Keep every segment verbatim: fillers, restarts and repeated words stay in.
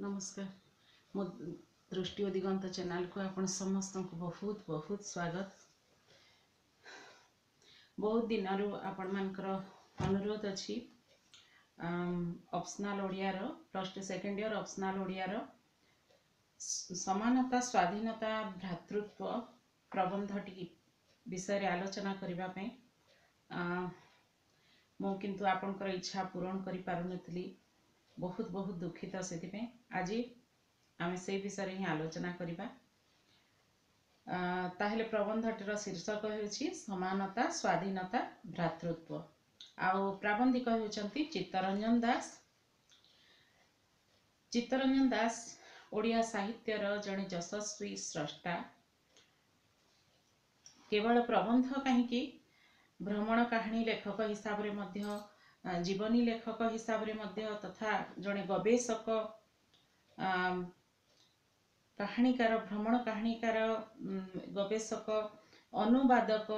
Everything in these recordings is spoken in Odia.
ନମସ୍କାର ମୋ ଦୃଷ୍ଟି ଓ ଦିଗନ୍ତ ଚ୍ୟାନେଲକୁ ଆପଣ ସମସ୍ତଙ୍କୁ ବହୁତ ବହୁତ ସ୍ୱାଗତ ବହୁତ ଦିନରୁ ଆପଣମାନଙ୍କର ଅନୁରୋଧ ଅଛି ଅପସନାଲ ଓଡ଼ିଆର plus two second year optional ଓଡ଼ିଆର ସମାନତା ସ୍ୱାଧୀନତା ଭ୍ରାତୃତ୍ୱ ପ୍ରବନ୍ଧଟି ବିଷୟରେ ଆଲୋଚନା କରିବା ପାଇଁ ମୁଁ କିନ୍ତୁ ଆପଣଙ୍କର ଇଚ୍ଛା ପୂରଣ କରିପାରୁନଥିଲି ବହୁତ ବହୁତ ଦୁଃଖିତ ସେଥିପାଇଁ ଆଜି ଆମେ ସେଇ ବିଷୟରେ ହିଁ ଆଲୋଚନା କରିବା ତାହେଲେ ପ୍ରବନ୍ଧଟିର ଶୀର୍ଷକ ହେଉଛି ସମାନତା ସ୍ୱାଧୀନତା ଭ୍ରାତୃତ୍ୱ ଆଉ ପ୍ରାବନ୍ଧିକ ହେଉଛନ୍ତି ଚିତ୍ତରଞ୍ଜନ ଦାସ ଚିତ୍ତରଞ୍ଜନ ଦାସ ଓଡ଼ିଆ ସାହିତ୍ୟର ଜଣେ ଯଶସ୍ୱୀ ସ୍ରଷ୍ଟା କେବଳ ପ୍ରବନ୍ଧ କାହିଁକି ଭ୍ରମଣ କାହାଣୀ ଲେଖକ ହିସାବରେ ମଧ୍ୟ ଜୀବନୀ ଲେଖକ ହିସାବରେ ମଧ୍ୟ ତଥା ଜଣେ ଗବେଷକ କାହାଣୀକାର ଭ୍ରମଣ କାହାଣୀକାର ଗବେଷକ ଅନୁବାଦକ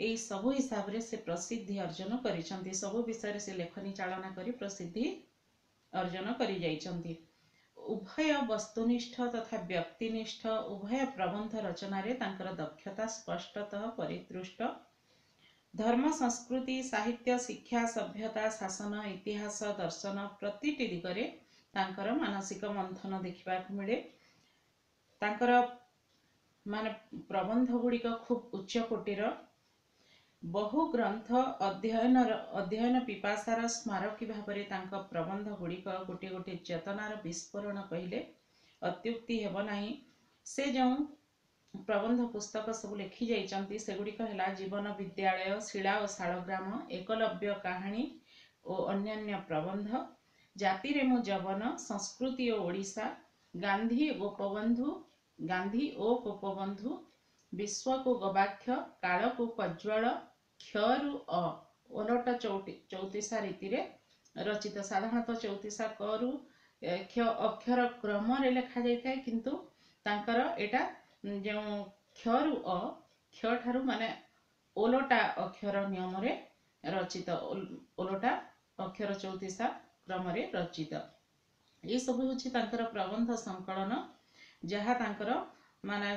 ଏଇ ସବୁ ହିସାବରେ ସେ ପ୍ରସିଦ୍ଧି ଅର୍ଜନ କରିଛନ୍ତି ସବୁ ବିଷୟରେ ସେ ଲେଖନୀ ଚାଳନା କରି ପ୍ରସିଦ୍ଧି ଅର୍ଜନ କରିଯାଇଛନ୍ତି ଉଭୟ ବସ୍ତୁନିଷ୍ଠ ତଥା ବ୍ୟକ୍ତିନିଷ୍ଠ ଉଭୟ ପ୍ରବନ୍ଧ ରଚନାରେ ତାଙ୍କର ଦକ୍ଷତା ସ୍ପଷ୍ଟତଃ ପରିଦୃଷ୍ଟ ଧର୍ମ ସଂସ୍କୃତି ସାହିତ୍ୟ ଶିକ୍ଷା ସଭ୍ୟତା ଶାସନ ଇତିହାସ ଦର୍ଶନ ପ୍ରତିଟି ଦିଗରେ ତାଙ୍କର ମାନସିକ ମନ୍ଥନ ଦେଖିବାକୁ ମିଳେ ତାଙ୍କର ମାନେ ପ୍ରବନ୍ଧ ଗୁଡ଼ିକ ଖୁବ୍ ଉଚ୍ଚ କୋଟିର ବହୁ ଗ୍ରନ୍ଥ ଅଧ୍ୟୟନର ଅଧ୍ୟୟନ ପିପାସାର ସ୍ମାରକୀ ଭାବରେ ତାଙ୍କ ପ୍ରବନ୍ଧ ଗୁଡ଼ିକ ଗୋଟିଏ ଗୋଟିଏ ଚେତନାର ବିସ୍ଫୋରଣ କହିଲେ ଅତ୍ୟୁକ୍ତି ହେବ ନାହିଁ ସେ ଯେଉଁ ପ୍ରବନ୍ଧ ପୁସ୍ତକ ସବୁ ଲେଖି ଯାଇଛନ୍ତି ସେଗୁଡ଼ିକ ହେଲା ଜୀବନ ବିଦ୍ୟାଳୟ ଶିଳା ଓ ଶାଳଗ୍ରାମ ଏକଲବ୍ୟ କାହାଣୀ ଓ ଅନ୍ୟାନ୍ୟ ପ୍ରବନ୍ଧ ଜାତିରେ ମୁଁ ଯବନ ସଂସ୍କୃତି ଓ ଓଡ଼ିଶା ଗାନ୍ଧୀ ଗୋପବନ୍ଧୁ ଗାନ୍ଧୀ ଓ ଗୋପବନ୍ଧୁ ବିଶ୍ୱକୁ ଗବାକ୍ଷ କାଳକୁ କଜ୍ୱଳ କ୍ଷରୁ ଅ ଓଲଟ ଚଉଟି ଚଉତିଶା ରୀତିରେ ରଚିତ ସାଧାରଣତଃ ଚଉତିଶା କରୁ କ୍ଷ ଅକ୍ଷର କ୍ରମରେ ଲେଖାଯାଇଥାଏ କିନ୍ତୁ ତାଙ୍କର ଏଇଟା ଯେଉଁ କ୍ଷରୁ ଅ କ୍ଷ ଠାରୁ ମାନେ ଓଲଟା ଅକ୍ଷର ନିୟମରେ ରଚିତ ଓଲଟା ଅକ୍ଷର ଚଉତିଶା କ୍ରମରେ ରଚିତ ଏସବୁ ହେଉଛି ତାଙ୍କର ପ୍ରବନ୍ଧ ସଂକଳନ ଯାହା ତାଙ୍କର ମାନେ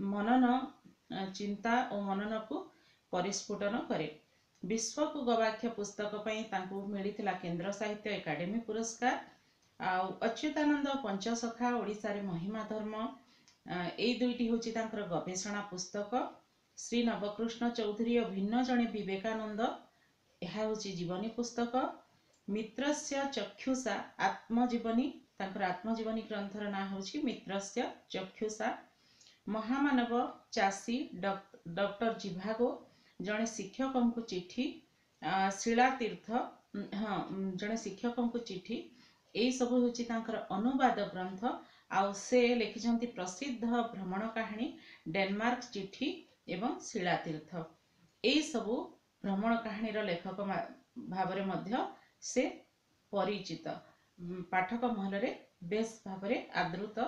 ମନନ ଚିନ୍ତା ଓ ମନନକୁ ପରିସ୍ଫୁଟନ କରେ ବିଶ୍ୱକୁ ଗବାକ୍ଷ ପୁସ୍ତକ ପାଇଁ ତାଙ୍କୁ ମିଳିଥିଲା କେନ୍ଦ୍ର ସାହିତ୍ୟ ଏକାଡେମୀ ପୁରସ୍କାର ଆଉ ଅଚ୍ୟୁତାନନ୍ଦ ପଞ୍ଚସଖା ଓଡ଼ିଶାରେ ମହିମା ଧର୍ମ ଏଇ ଦୁଇଟି ହେଉଛି ତାଙ୍କର ଗବେଷଣା ପୁସ୍ତକ ଶ୍ରୀ ନବକୃଷ୍ଣ ଚୌଧୁରୀ ଓ ଭିନ୍ନ ଜଣେ ବିବେକାନନ୍ଦ ଏହା ହେଉଛି ଜୀବନୀ ପୁସ୍ତକ ମିତ୍ରସ୍ୟ ଚକ୍ଷୁଷା ଆତ୍ମଜୀବନୀ ତାଙ୍କର ଆତ୍ମଜୀବନୀ ଗ୍ରନ୍ଥର ନାଁ ହେଉଛି ମିତ୍ରସ୍ୟ ଚକ୍ଷୁଷା ମହାମାନବ ଚାଷୀ ଡକ୍ଟର ଜିଭାଗୋ ଜଣେ ଶିକ୍ଷକଙ୍କୁ ଚିଠି ଶିଳାତୀର୍ଥ ହଁ ଜଣେ ଶିକ୍ଷକଙ୍କୁ ଚିଠି ଏଇସବୁ ହେଉଛି ତାଙ୍କର ଅନୁବାଦ ଗ୍ରନ୍ଥ ଆଉ ସେ ଲେଖିଛନ୍ତି ପ୍ରସିଦ୍ଧ ଭ୍ରମଣ କାହାଣୀ ଡେନମାର୍କ ଚିଠି ଏବଂ ଶିଳାତୀର୍ଥ ଏଇସବୁ ଭ୍ରମଣ କାହାଣୀର ଲେଖକ ଭାବରେ ମଧ୍ୟ ସେ ପରିଚିତ ପାଠକ ମହଲରେ ବେଶ ଭାବରେ ଆଦୃତ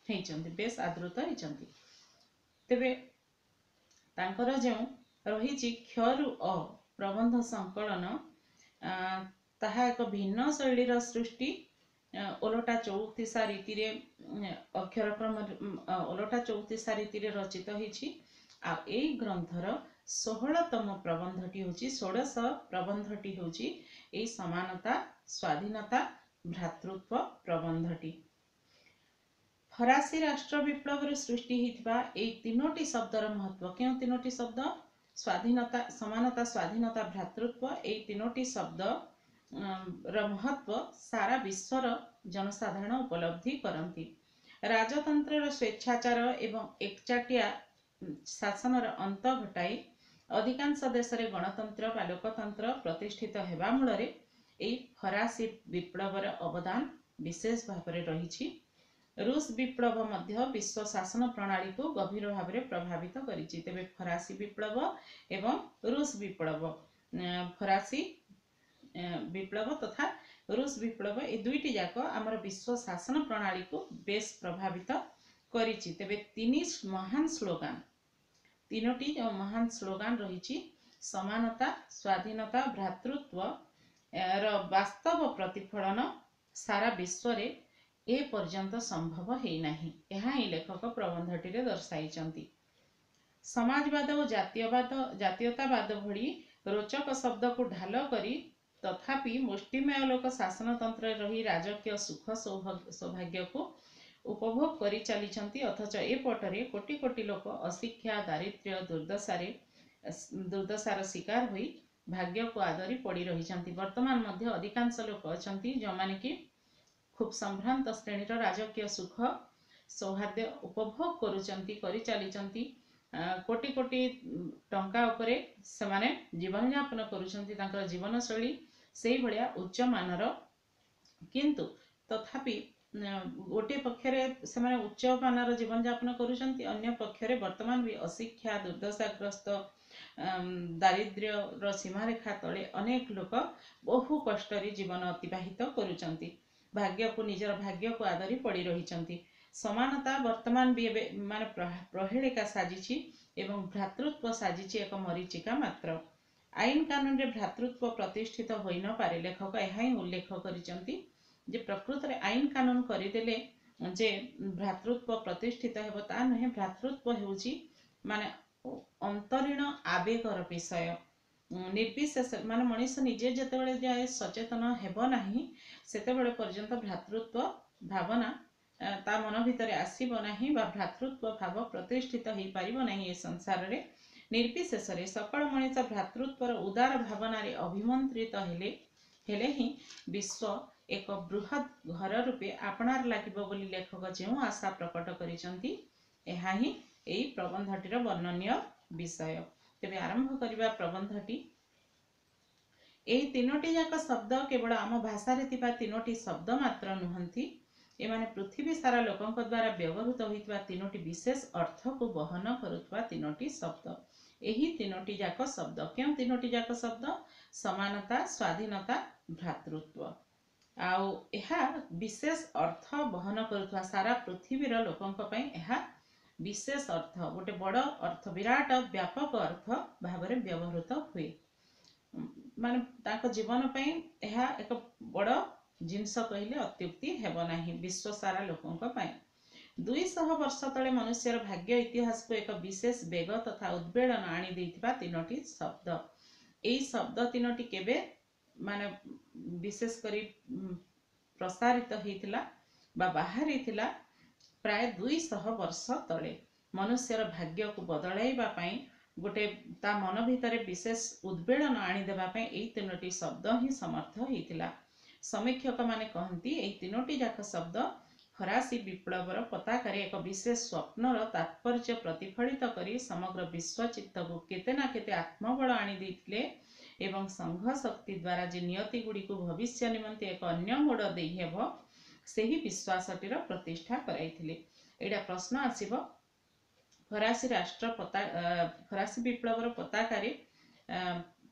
ହେଇଛନ୍ତି ବେଶ ଆଦୃତ ହେଇଛନ୍ତି ତେବେ ତାଙ୍କର ଯେଉଁ ରହିଛି କ୍ଷରୁ ଅ ପ୍ରବନ୍ଧ ସଂକଳନ ତାହା ଏକ ଭିନ୍ନ ଶୈଳୀର ସୃଷ୍ଟି ଓଲଟା ଚଉତିଶା ରୀତିରେ ଅକ୍ଷର କ୍ରମରେ ଓଲଟା ଚଉତିଶା ରୀତିରେ ରଚିତ ହେଇଛି ଆଉ ଏଇ ଗ୍ରନ୍ଥର ଷୋହଳତମ ପ୍ରବନ୍ଧଟି ହେଉଛି ଷୋଡ଼ଶ ପ୍ରବନ୍ଧଟି ହେଉଛି ଏଇ ସମାନତା ସ୍ୱାଧୀନତା ଭ୍ରାତୃତ୍ୱ ପ୍ରବନ୍ଧଟି ଫରାସୀ ରାଷ୍ଟ୍ର ବିପ୍ଳବରୁ ସୃଷ୍ଟି ହେଇଥିବା ଏଇ ତିନୋଟି ଶବ୍ଦର ମହତ୍ଵ କେଉଁ ତିନୋଟି ଶବ୍ଦ ସ୍ୱାଧୀନତା ସମାନତା ସ୍ୱାଧୀନତା ଭ୍ରାତୃତ୍ୱ ଏଇ ତିନୋଟି ଶବ୍ଦ ର ମହତ୍ଵ ସାରା ବିଶ୍ୱର ଜନସାଧାରଣ ଉପଲବ୍ଧି କରନ୍ତି ରାଜତନ୍ତ୍ରର ସ୍ୱେଚ୍ଛାଚାର ଏବଂ ଏକଚାଟିଆ ଶାସନର ଅନ୍ତ ଘଟାଇ ଅଧିକାଂଶ ଦେଶରେ ଗଣତନ୍ତ୍ର ବା ଲୋକତନ୍ତ୍ର ପ୍ରତିଷ୍ଠିତ ହେବା ମୂଳରେ ଏଇ ଫରାସୀ ବିପ୍ଳବର ଅବଦାନ ବିଶେଷ ଭାବରେ ରହିଛି ରୁଷ ବିପ୍ଳବ ମଧ୍ୟ ବିଶ୍ୱ ଶାସନ ପ୍ରଣାଳୀକୁ ଗଭୀର ଭାବରେ ପ୍ରଭାବିତ କରିଛି ତେବେ ଫରାସୀ ବିପ୍ଳବ ଏବଂ ରୁଷ ବିପ୍ଳବ ଫରାସୀ ବିପ୍ଳବ ତଥା ରୁଷ ବିପ୍ଳବ ଏ ଦୁଇଟି ଯାକ ଆମର ବିଶ୍ୱ ଶାସନ ପ୍ରଣାଳୀକୁ ବେଶ ପ୍ରଭାବିତ କରିଛି ତେବେ ତିନି ମହାନ ସ୍ଲୋଗାନ ତିନୋଟି ଯେଉଁ ମହାନ ସ୍ଲୋଗାନ ରହିଛି ସମାନତା ସ୍ୱାଧୀନତା ଭ୍ରାତୃତ୍ୱ ର ବାସ୍ତବ ପ୍ରତିଫଳନ ସାରା ବିଶ୍ୱରେ ଏ ପର୍ଯ୍ୟନ୍ତ ସମ୍ଭବ ହେଇନାହିଁ। ଏହା ହିଁ ଲେଖକ ପ୍ରବନ୍ଧଟିରେ ଦର୍ଶାଇଛନ୍ତି। ସମାଜବାଦ ଓ ଜାତୀୟବାଦ ଜାତୀୟତାବାଦ ଭଳି ରୋଚକ ଶବ୍ଦକୁ ଢାଲ କରି ତଥାପି ମୁଷ୍ଟିମେୟ ଲୋକ ଶାସନତନ୍ତ୍ରରେ ରହି ରାଜକୀୟ ସୁଖ ସୌଭାଗ୍ୟକୁ ଉପଭୋଗ କରି ଚାଲିଛନ୍ତି, ଅଥଚ ଏପଟରେ କୋଟି କୋଟି ଲୋକ ଅଶିକ୍ଷା, ଦାରିଦ୍ର୍ୟ, ଦୁର୍ଦ୍ଦଶାରେ ଦୁର୍ଦ୍ଦଶାର ଶିକାର ହୋଇ ଭାଗ୍ୟକୁ ଆଦରି ପଡ଼ି ରହିଛନ୍ତି। ବର୍ତ୍ତମାନ ମଧ୍ୟ ଅଧିକାଂଶ ଲୋକ ଅଛନ୍ତି ଯେଉଁମାନେ କି ଖୁବ୍ ସମ୍ଭ୍ରାନ୍ତ ଶ୍ରେଣୀର ରାଜକୀୟ ସୁଖ ସୌହାର୍ଦ୍ଦ୍ୟ ଉପଭୋଗ କରୁଛନ୍ତି, କରିଚାଲିଛନ୍ତି। କୋଟି କୋଟି ଟଙ୍କା ଉପରେ ସେମାନେ ଜୀବନଯାପନ କରୁଛନ୍ତି, ତାଙ୍କର ଜୀବନଶୈଳୀ ସେଇଭଳିଆ ଉଚ୍ଚମାନର। କିନ୍ତୁ ତଥାପି ଗୋଟିଏ ପକ୍ଷରେ ସେମାନେ ଉଚ୍ଚମାନର ଜୀବନଯାପନ କରୁଛନ୍ତି, ଅନ୍ୟ ପକ୍ଷରେ ବର୍ତ୍ତମାନ ବି ଅଶିକ୍ଷା, ଦୁର୍ଦ୍ଦଶାଗ୍ରସ୍ତ, ଦାରିଦ୍ର୍ୟର ସୀମାରେଖା ତଳେ ଅନେକ ଲୋକ ବହୁ କଷ୍ଟରେ ଜୀବନ ଅତିବାହିତ କରୁଛନ୍ତି, ଭାଗ୍ୟକୁ ନିଜର ଭାଗ୍ୟକୁ ଆଦରି ପଡ଼ି ରହିଛନ୍ତି। ସମାନତା ବର୍ତ୍ତମାନ ବି ଏବେ ମାନେ ପ୍ରହେଳିକା ସାଜିଛି ଏବଂ ଭ୍ରାତୃତ୍ୱ ସାଜିଛି ଏକ ମରୀଚିକା ମାତ୍ର। ଆଇନ କାନୁନରେ ଭ୍ରାତୃତ୍ୱ ପ୍ରତିଷ୍ଠିତ ହୋଇନପାରେ, ଲେଖକ ଏହା ହିଁ ଉଲ୍ଲେଖ କରିଛନ୍ତି ଯେ ପ୍ରକୃତରେ ଆଇନ କାନୁନ କରିଦେଲେ ଯେ ଭ୍ରାତୃତ୍ୱ ପ୍ରତିଷ୍ଠିତ ହେବ ତା ନୁହେଁ। ଭ୍ରାତୃତ୍ୱ ହେଉଛି ମାନେ ଅନ୍ତରୀଣ ଆବେଗର ବିଷୟ। ନିର୍ବିଶେଷ ମାନେ ମଣିଷ ନିଜେ ଯେତେବେଳେ ଯାଏ ସଚେତନ ହେବ ନାହିଁ, ସେତେବେଳେ ପର୍ଯ୍ୟନ୍ତ ଭ୍ରାତୃତ୍ୱ ଭାବନା ତା ମନ ଭିତରେ ଆସିବ ନାହିଁ ବା ଭ୍ରାତୃତ୍ୱ ଭାବ ପ୍ରତିଷ୍ଠିତ ହେଇପାରିବ ନାହିଁ ଏ ସଂସାରରେ। ନିର୍ବିଶେଷରେ ସକଳ ମଣିଷ ଭ୍ରାତୃତ୍ୱର ଉଦାର ଭାବନାରେ ଅଭିମନ୍ତ୍ରିତ ହେଲେ ହେଲେ ହିଁ ବିଶ୍ୱ ଏକ ବୃହତ୍ ଘର ରୂପେ ଆପଣାର ଲାଗିବ ବୋଲି ଲେଖକ ଯେଉଁ ଆଶା ପ୍ରକଟ କରିଛନ୍ତି, ଏହା ହିଁ ଏଇ ପ୍ରବନ୍ଧଟିର ବର୍ଣ୍ଣନୀୟ ବିଷୟ। ତେବେ ଆରମ୍ଭ କରିବା ପ୍ରବନ୍ଧଟି। ଏହି ତିନୋଟି ଯାକ ଶବ୍ଦ କେବଳ ଆମ ଭାଷାରେ ଥିବା ତିନୋଟି ଶବ୍ଦ ମାତ୍ର ନୁହନ୍ତି, ଏମାନେ ପୃଥିବୀ ସାରା ଲୋକଙ୍କ ଦ୍ୱାରା ବ୍ୟବହୃତ ହୋଇଥିବା ତିନୋଟି ବିଶେଷ ଅର୍ଥକୁ ବହନ କରୁଥିବା ତିନୋଟି ଶବ୍ଦ। ଏହି ତିନୋଟି ଯାକ ଶବ୍ଦ କେଉଁ ତିନୋଟି ଯାକ ଶବ୍ଦ? ସମାନତା, ସ୍ୱାଧୀନତା, ଭ୍ରାତୃତ୍ୱ। ଆଉ ଏହା ବିଶେଷ ଅର୍ଥ ବହନ କରୁଥିବା ସାରା ପୃଥିବୀର ଲୋକଙ୍କ ପାଇଁ ଏହା ବିଶେଷ ଅର୍ଥ, ଗୋଟେ ବଡ଼ ଅର୍ଥ, ବିରାଟ ବ୍ୟାପକ ଅର୍ଥ ଭାବରେ ବ୍ୟବହୃତ ହୁଏ। ମାନେ ତାଙ୍କ ଜୀବନ ପାଇଁ ଏହା ଏକ ବଡ଼ ଜିନିଷ କହିଲେ ଅତ୍ୟୁକ୍ତି ହେବ ନାହିଁ ବିଶ୍ୱ ସାରା ଲୋକଙ୍କ ପାଇଁ। ଦୁଇଶହ ବର୍ଷ ତଳେ ମନୁଷ୍ୟର ଭାଗ୍ୟ ଇତିହାସକୁ ଏକ ବିଶେଷ ବେଗ ତଥା ଉଦ୍ବେଳନ ଆଣି ଦେଇଥିବା ତିନୋଟି ଶବ୍ଦ। ଏଇ ଶବ୍ଦ ତିନୋଟି କେବେ ମାନେ ବିଶେଷ କରି ପ୍ରସାରିତ ହେଇଥିଲା ବା ବାହାରିଥିଲା? ପ୍ରାୟ ଦୁଇଶହ ବର୍ଷ ତଳେ। ମନୁଷ୍ୟର ଭାଗ୍ୟକୁ ବଦଳାଇବା ପାଇଁ, ଗୋଟେ ତା ମନ ଭିତରେ ବିଶେଷ ଉଦ୍ବେଳନ ଆଣିଦେବା ପାଇଁ ଏଇ ତିନୋଟି ଶବ୍ଦ ହିଁ ସମର୍ଥ ହେଇଥିଲା। ସମୀକ୍ଷକମାନେ କହନ୍ତି, ଏହି ତିନୋଟି ଯାକ ଶବ୍ଦ ଫରାସୀ ବିପ୍ଳବର ପତାକାରେ ଏକ ବିଶେଷ ସ୍ୱପ୍ନର ତାତ୍ପର୍ଯ୍ୟ ପ୍ରତିଫଳିତ କରି ସମଗ୍ର ବିଶ୍ୱ ଚିତ୍ତକୁ କେତେ ନା କେତେ ଆତ୍ମବଳ ଆଣି ଦେଇଥିଲେ ଏବଂ ସଂଘ ଶକ୍ତି ଦ୍ୱାରା ଯେ ନିୟତି ଗୁଡ଼ିକୁ ଭବିଷ୍ୟ ନିମନ୍ତେ ଏକ ଅନ୍ୟ ମୋଡ଼ ଦେଇହେବ, ସେହି ବିଶ୍ୱାସଟିର ପ୍ରତିଷ୍ଠା କରାଇଥିଲେ। ଏଇଟା ପ୍ରଶ୍ନ ଆସିବ, ଫରାସୀ ରାଷ୍ଟ୍ର ପତା ଫରାସୀ ବିପ୍ଳବର ପତାକାରେ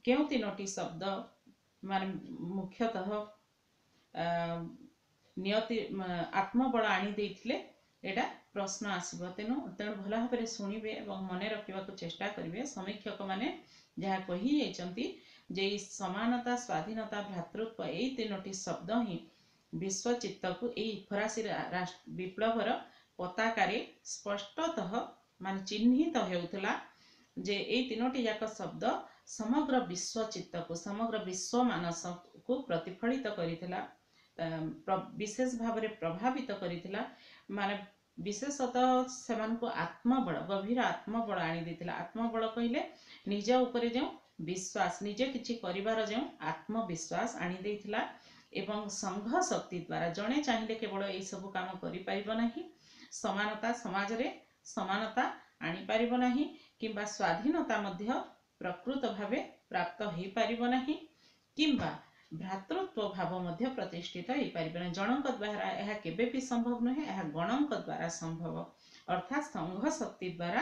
କେଉଁ ତିନୋଟି ଶବ୍ଦ ମାନେ ମୁଖ୍ୟତଃ ନିୟତି ଆତ୍ମବଳ ଆଣି ଦେଇଥିଲେ? ଏଇଟା ପ୍ରଶ୍ନ ଆସିବ। ତେଣୁ ତେଣୁ ଭଲ ଭାବରେ ଶୁଣିବେ ଏବଂ ମନେ ରଖିବାକୁ ଚେଷ୍ଟା କରିବେ। ସମୀକ୍ଷକମାନେ ଯାହା କହିଯାଇଛନ୍ତି ଯେ ଏଇ ସମାନତା, ସ୍ୱାଧୀନତା, ଭ୍ରାତୃତ୍ୱ ଏଇ ତିନୋଟି ଶବ୍ଦ ହିଁ ବିଶ୍ୱ ଚିତ୍ତକୁ ଏଇ ଫରାସୀ ବିପ୍ଳବର ପତାକାରେ ସ୍ପଷ୍ଟତଃ ମାନେ ଚିହ୍ନିତ ହେଉଥିଲା ଯେ ଏଇ ତିନୋଟି ଯାକ ଶବ୍ଦ ସମଗ୍ର ବିଶ୍ୱ ଚିତ୍ତକୁ, ସମଗ୍ର ବିଶ୍ୱ ମାନସକୁ ପ୍ରତିଫଳିତ କରିଥିଲା, ବିଶେଷ ଭାବରେ ପ୍ରଭାବିତ କରିଥିଲା, ମାନେ ବିଶେଷତଃ ସେମାନଙ୍କୁ ଆତ୍ମବଳ, ଗଭୀର ଆତ୍ମବଳ ଆଣି ଦେଇଥିଲା। ଆତ୍ମବଳ କହିଲେ ନିଜ ଉପରେ ଯେଉଁ ବିଶ୍ୱାସ, ନିଜେ କିଛି କରିବାର ଯେଉଁ ଆତ୍ମବିଶ୍ୱାସ ଆଣି ଦେଇଥିଲା। ଏବଂ ସଂଘ ଶକ୍ତି ଦ୍ୱାରା ଜଣେ ଚାହିଁଲେ କେବଳ ଏଇସବୁ କାମ କରିପାରିବ ନାହିଁ, ସମାନତା ସମାଜରେ ସମାନତା ଆଣିପାରିବ ନାହିଁ କିମ୍ବା ସ୍ୱାଧୀନତା ମଧ୍ୟ ପ୍ରକୃତ ଭାବେ ପ୍ରାପ୍ତ ହେଇପାରିବ ନାହିଁ କିମ୍ବା ଭ୍ରାତୃତ୍ୱ ଭାବ ମଧ୍ୟ ପ୍ରତିଷ୍ଠିତ ହେଇପାରିବ ନାହିଁ। ଜଣଙ୍କ ଦ୍ୱାରା ଏହା କେବେ ବି ସମ୍ଭବ ନୁହେଁ, ଏହା ଗଣଙ୍କ ଦ୍ୱାରା ସମ୍ଭବ, ଅର୍ଥାତ୍ ସଂଘ ଶକ୍ତି ଦ୍ୱାରା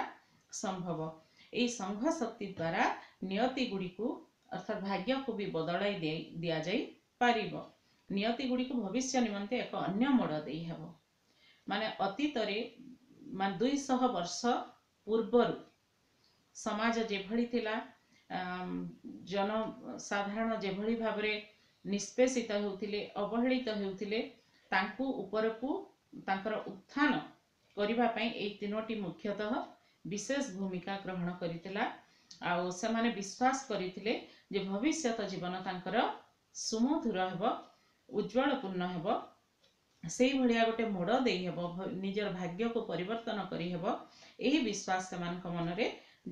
ସମ୍ଭବ। ଏଇ ସଂଘ ଶକ୍ତି ଦ୍ୱାରା ନିୟତି ଗୁଡ଼ିକୁ ଅର୍ଥାତ୍ ଭାଗ୍ୟକୁ ବି ବଦଳାଇ ଦିଆଯାଇ ପାରିବ, ନିୟତି ଗୁଡ଼ିକୁ ଭବିଷ୍ୟ ନିମନ୍ତେ ଏକ ଅନ୍ୟ ମୋଡ଼ ଦେଇହେବ। ମାନେ ଅତୀତରେ ମାନେ ଦୁଇଶହ ବର୍ଷ ପୂର୍ବରୁ ସମାଜ ଯେଭଳି ଥିଲା, ଜନସାଧାରଣ ଯେଭଳି ଭାବରେ ନିଷ୍ପେଷିତ ହେଉଥିଲେ, ଅବହେଳିତ ହେଉଥିଲେ, ତାଙ୍କୁ ଉପରକୁ ତାଙ୍କର ଉତ୍ଥାନ କରିବା ପାଇଁ ଏଇ ତିନୋଟି ମୁଖ୍ୟତଃ ବିଶେଷ ଭୂମିକା ଗ୍ରହଣ କରିଥିଲା। ଆଉ ସେମାନେ ବିଶ୍ୱାସ କରିଥିଲେ ଯେ ଭବିଷ୍ୟତ ଜୀବନ ତାଙ୍କର ସୁମଧୁର ହେବ, ଉଜ୍ଜ୍ୱଳପୂର୍ଣ୍ଣ ହେବ, ସେଇଭଳିଆ ଗୋଟେ ମୋଡ଼ ଦେଇ ହେବ, ନିଜର ଭାଗ୍ୟକୁ ପରିବର୍ତ୍ତନ କରିହେବ। ଏହି ବିଶ୍ୱାସ ସେମାନଙ୍କ ମନରେ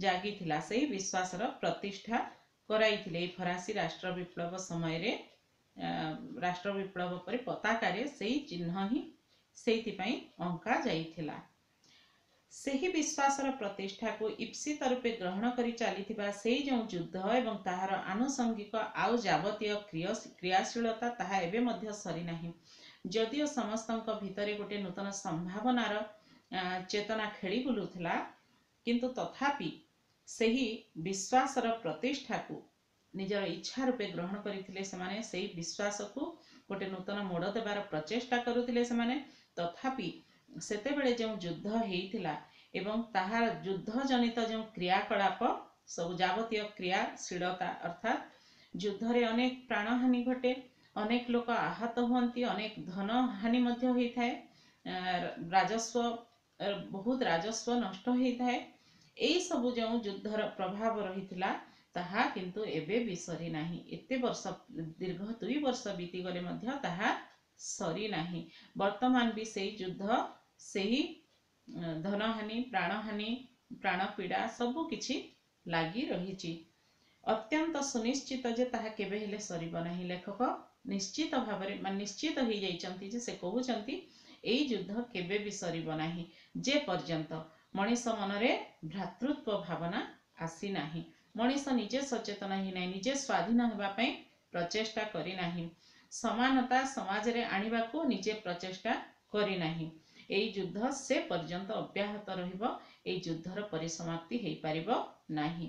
ଜାଗିଥିଲା। ସେହି ବିଶ୍ୱାସର ପ୍ରତିଷ୍ଠା କରାଇଥିଲେ ଏଇ ଫରାସୀ ରାଷ୍ଟ୍ର ବିପ୍ଳବ ସମୟରେ। ରାଷ୍ଟ୍ର ବିପ୍ଳବ ପରେ ପତାକାରେ ସେଇ ଚିହ୍ନ ହିଁ ସେଇଥିପାଇଁ ଅଙ୍କା ଯାଇଥିଲା। ସେହି ବିଶ୍ୱାସର ପ୍ରତିଷ୍ଠାକୁ ଇପ୍ସିତ ରୂପେ ଗ୍ରହଣ କରି ଚାଲିଥିବା ସେଇ ଯେଉଁ ଯୁଦ୍ଧ ଏବଂ ତାହାର ଆନୁଷଙ୍ଗିକ ଆଉ ଯାବତୀୟ କ୍ରିୟାଶୀଳତା, ତାହା ଏବେ ମଧ୍ୟ ସରିନାହିଁ। ଯଦିଓ ସମସ୍ତଙ୍କ ଭିତରେ ଗୋଟେ ନୂତନ ସମ୍ଭାବନାର ଚେତନା ଖେଳି ବୁଲୁଥିଲା, କିନ୍ତୁ ତଥାପି ସେହି ବିଶ୍ୱାସର ପ୍ରତିଷ୍ଠାକୁ ନିଜର ଇଚ୍ଛା ରୂପେ ଗ୍ରହଣ କରିଥିଲେ ସେମାନେ। ସେଇ ବିଶ୍ୱାସକୁ ଗୋଟେ ନୂତନ ମୋଡ଼ ଦେବାର ପ୍ରଚେଷ୍ଟା କରୁଥିଲେ ସେମାନେ। ତଥାପି ସେତେବେଳେ ଯେଉଁ ଯୁଦ୍ଧ ହେଇଥିଲା ଏବଂ ତାହାର ଯୁଦ୍ଧ ଜନିତ ଯେଉଁ କ୍ରିୟାକଳାପ ସବୁ ଯାବତୀୟ କ୍ରିୟାଶୀଳତା, ଅର୍ଥାତ୍ ଯୁଦ୍ଧରେ ଅନେକ ପ୍ରାଣହାନି ଘଟେ, ଅନେକ ଲୋକ ଆହତ ହୁଅନ୍ତି, ଅନେକ ଧନ ହାନି ମଧ୍ୟ ହୋଇଥାଏ, ରାଜସ୍ୱ ବହୁତ ରାଜସ୍ୱ ନଷ୍ଟ ହେଇଥାଏ, ଏଇସବୁ ଯେଉଁ ଯୁଦ୍ଧର ପ୍ରଭାବ ରହିଥିଲା ତାହା କିନ୍ତୁ ଏବେ ବି ସରିନାହିଁ। ଏତେ ବର୍ଷ, ଦୀର୍ଘ ଦୁଇ ବର୍ଷ ବିତିଗଲେ ମଧ୍ୟ ତାହା ସରିନାହିଁ। ବର୍ତ୍ତମାନ ବି ସେଇ ଯୁଦ୍ଧ, ସେହି ଧନହାନି, ପ୍ରାଣହାନି, ପ୍ରାଣପୀଡ଼ା ସବୁ କିଛି ଲାଗି ରହିଛି। ଅତ୍ୟନ୍ତ ସୁନିଶ୍ଚିତ ଯେ ତାହା କେବେ ହେଲେ ସରିବ ନାହିଁ। ଲେଖକ ନିଶ୍ଚିତ ଭାବରେ ମାନେ ନିଶ୍ଚିତ ହେଇଯାଇଛନ୍ତି ଯେ ସେ କହୁଛନ୍ତି ଏଇ ଯୁଦ୍ଧ କେବେ ବି ସରିବ ନାହିଁ ଯେ ପର୍ଯ୍ୟନ୍ତ ମଣିଷ ମନରେ ଭ୍ରାତୃତ୍ୱ ଭାବନା ଆସିନାହିଁ, ମଣିଷ ନିଜେ ସଚେତନ ହେଇନାହିଁ, ନିଜେ ସ୍ୱାଧୀନ ହେବା ପାଇଁ ପ୍ରଚେଷ୍ଟା କରିନାହିଁ, ସମାନତା ସମାଜରେ ଆଣିବାକୁ ନିଜେ ପ୍ରଚେଷ୍ଟା କରିନାହିଁ। ଏଇ ଯୁଦ୍ଧ ସେ ପର୍ଯ୍ୟନ୍ତ ଅବ୍ୟାହତ ରହିବ। ଏଇ ଯୁଦ୍ଧର ପରିସମାପ୍ତି ହେଇପାରିବ ନାହିଁ।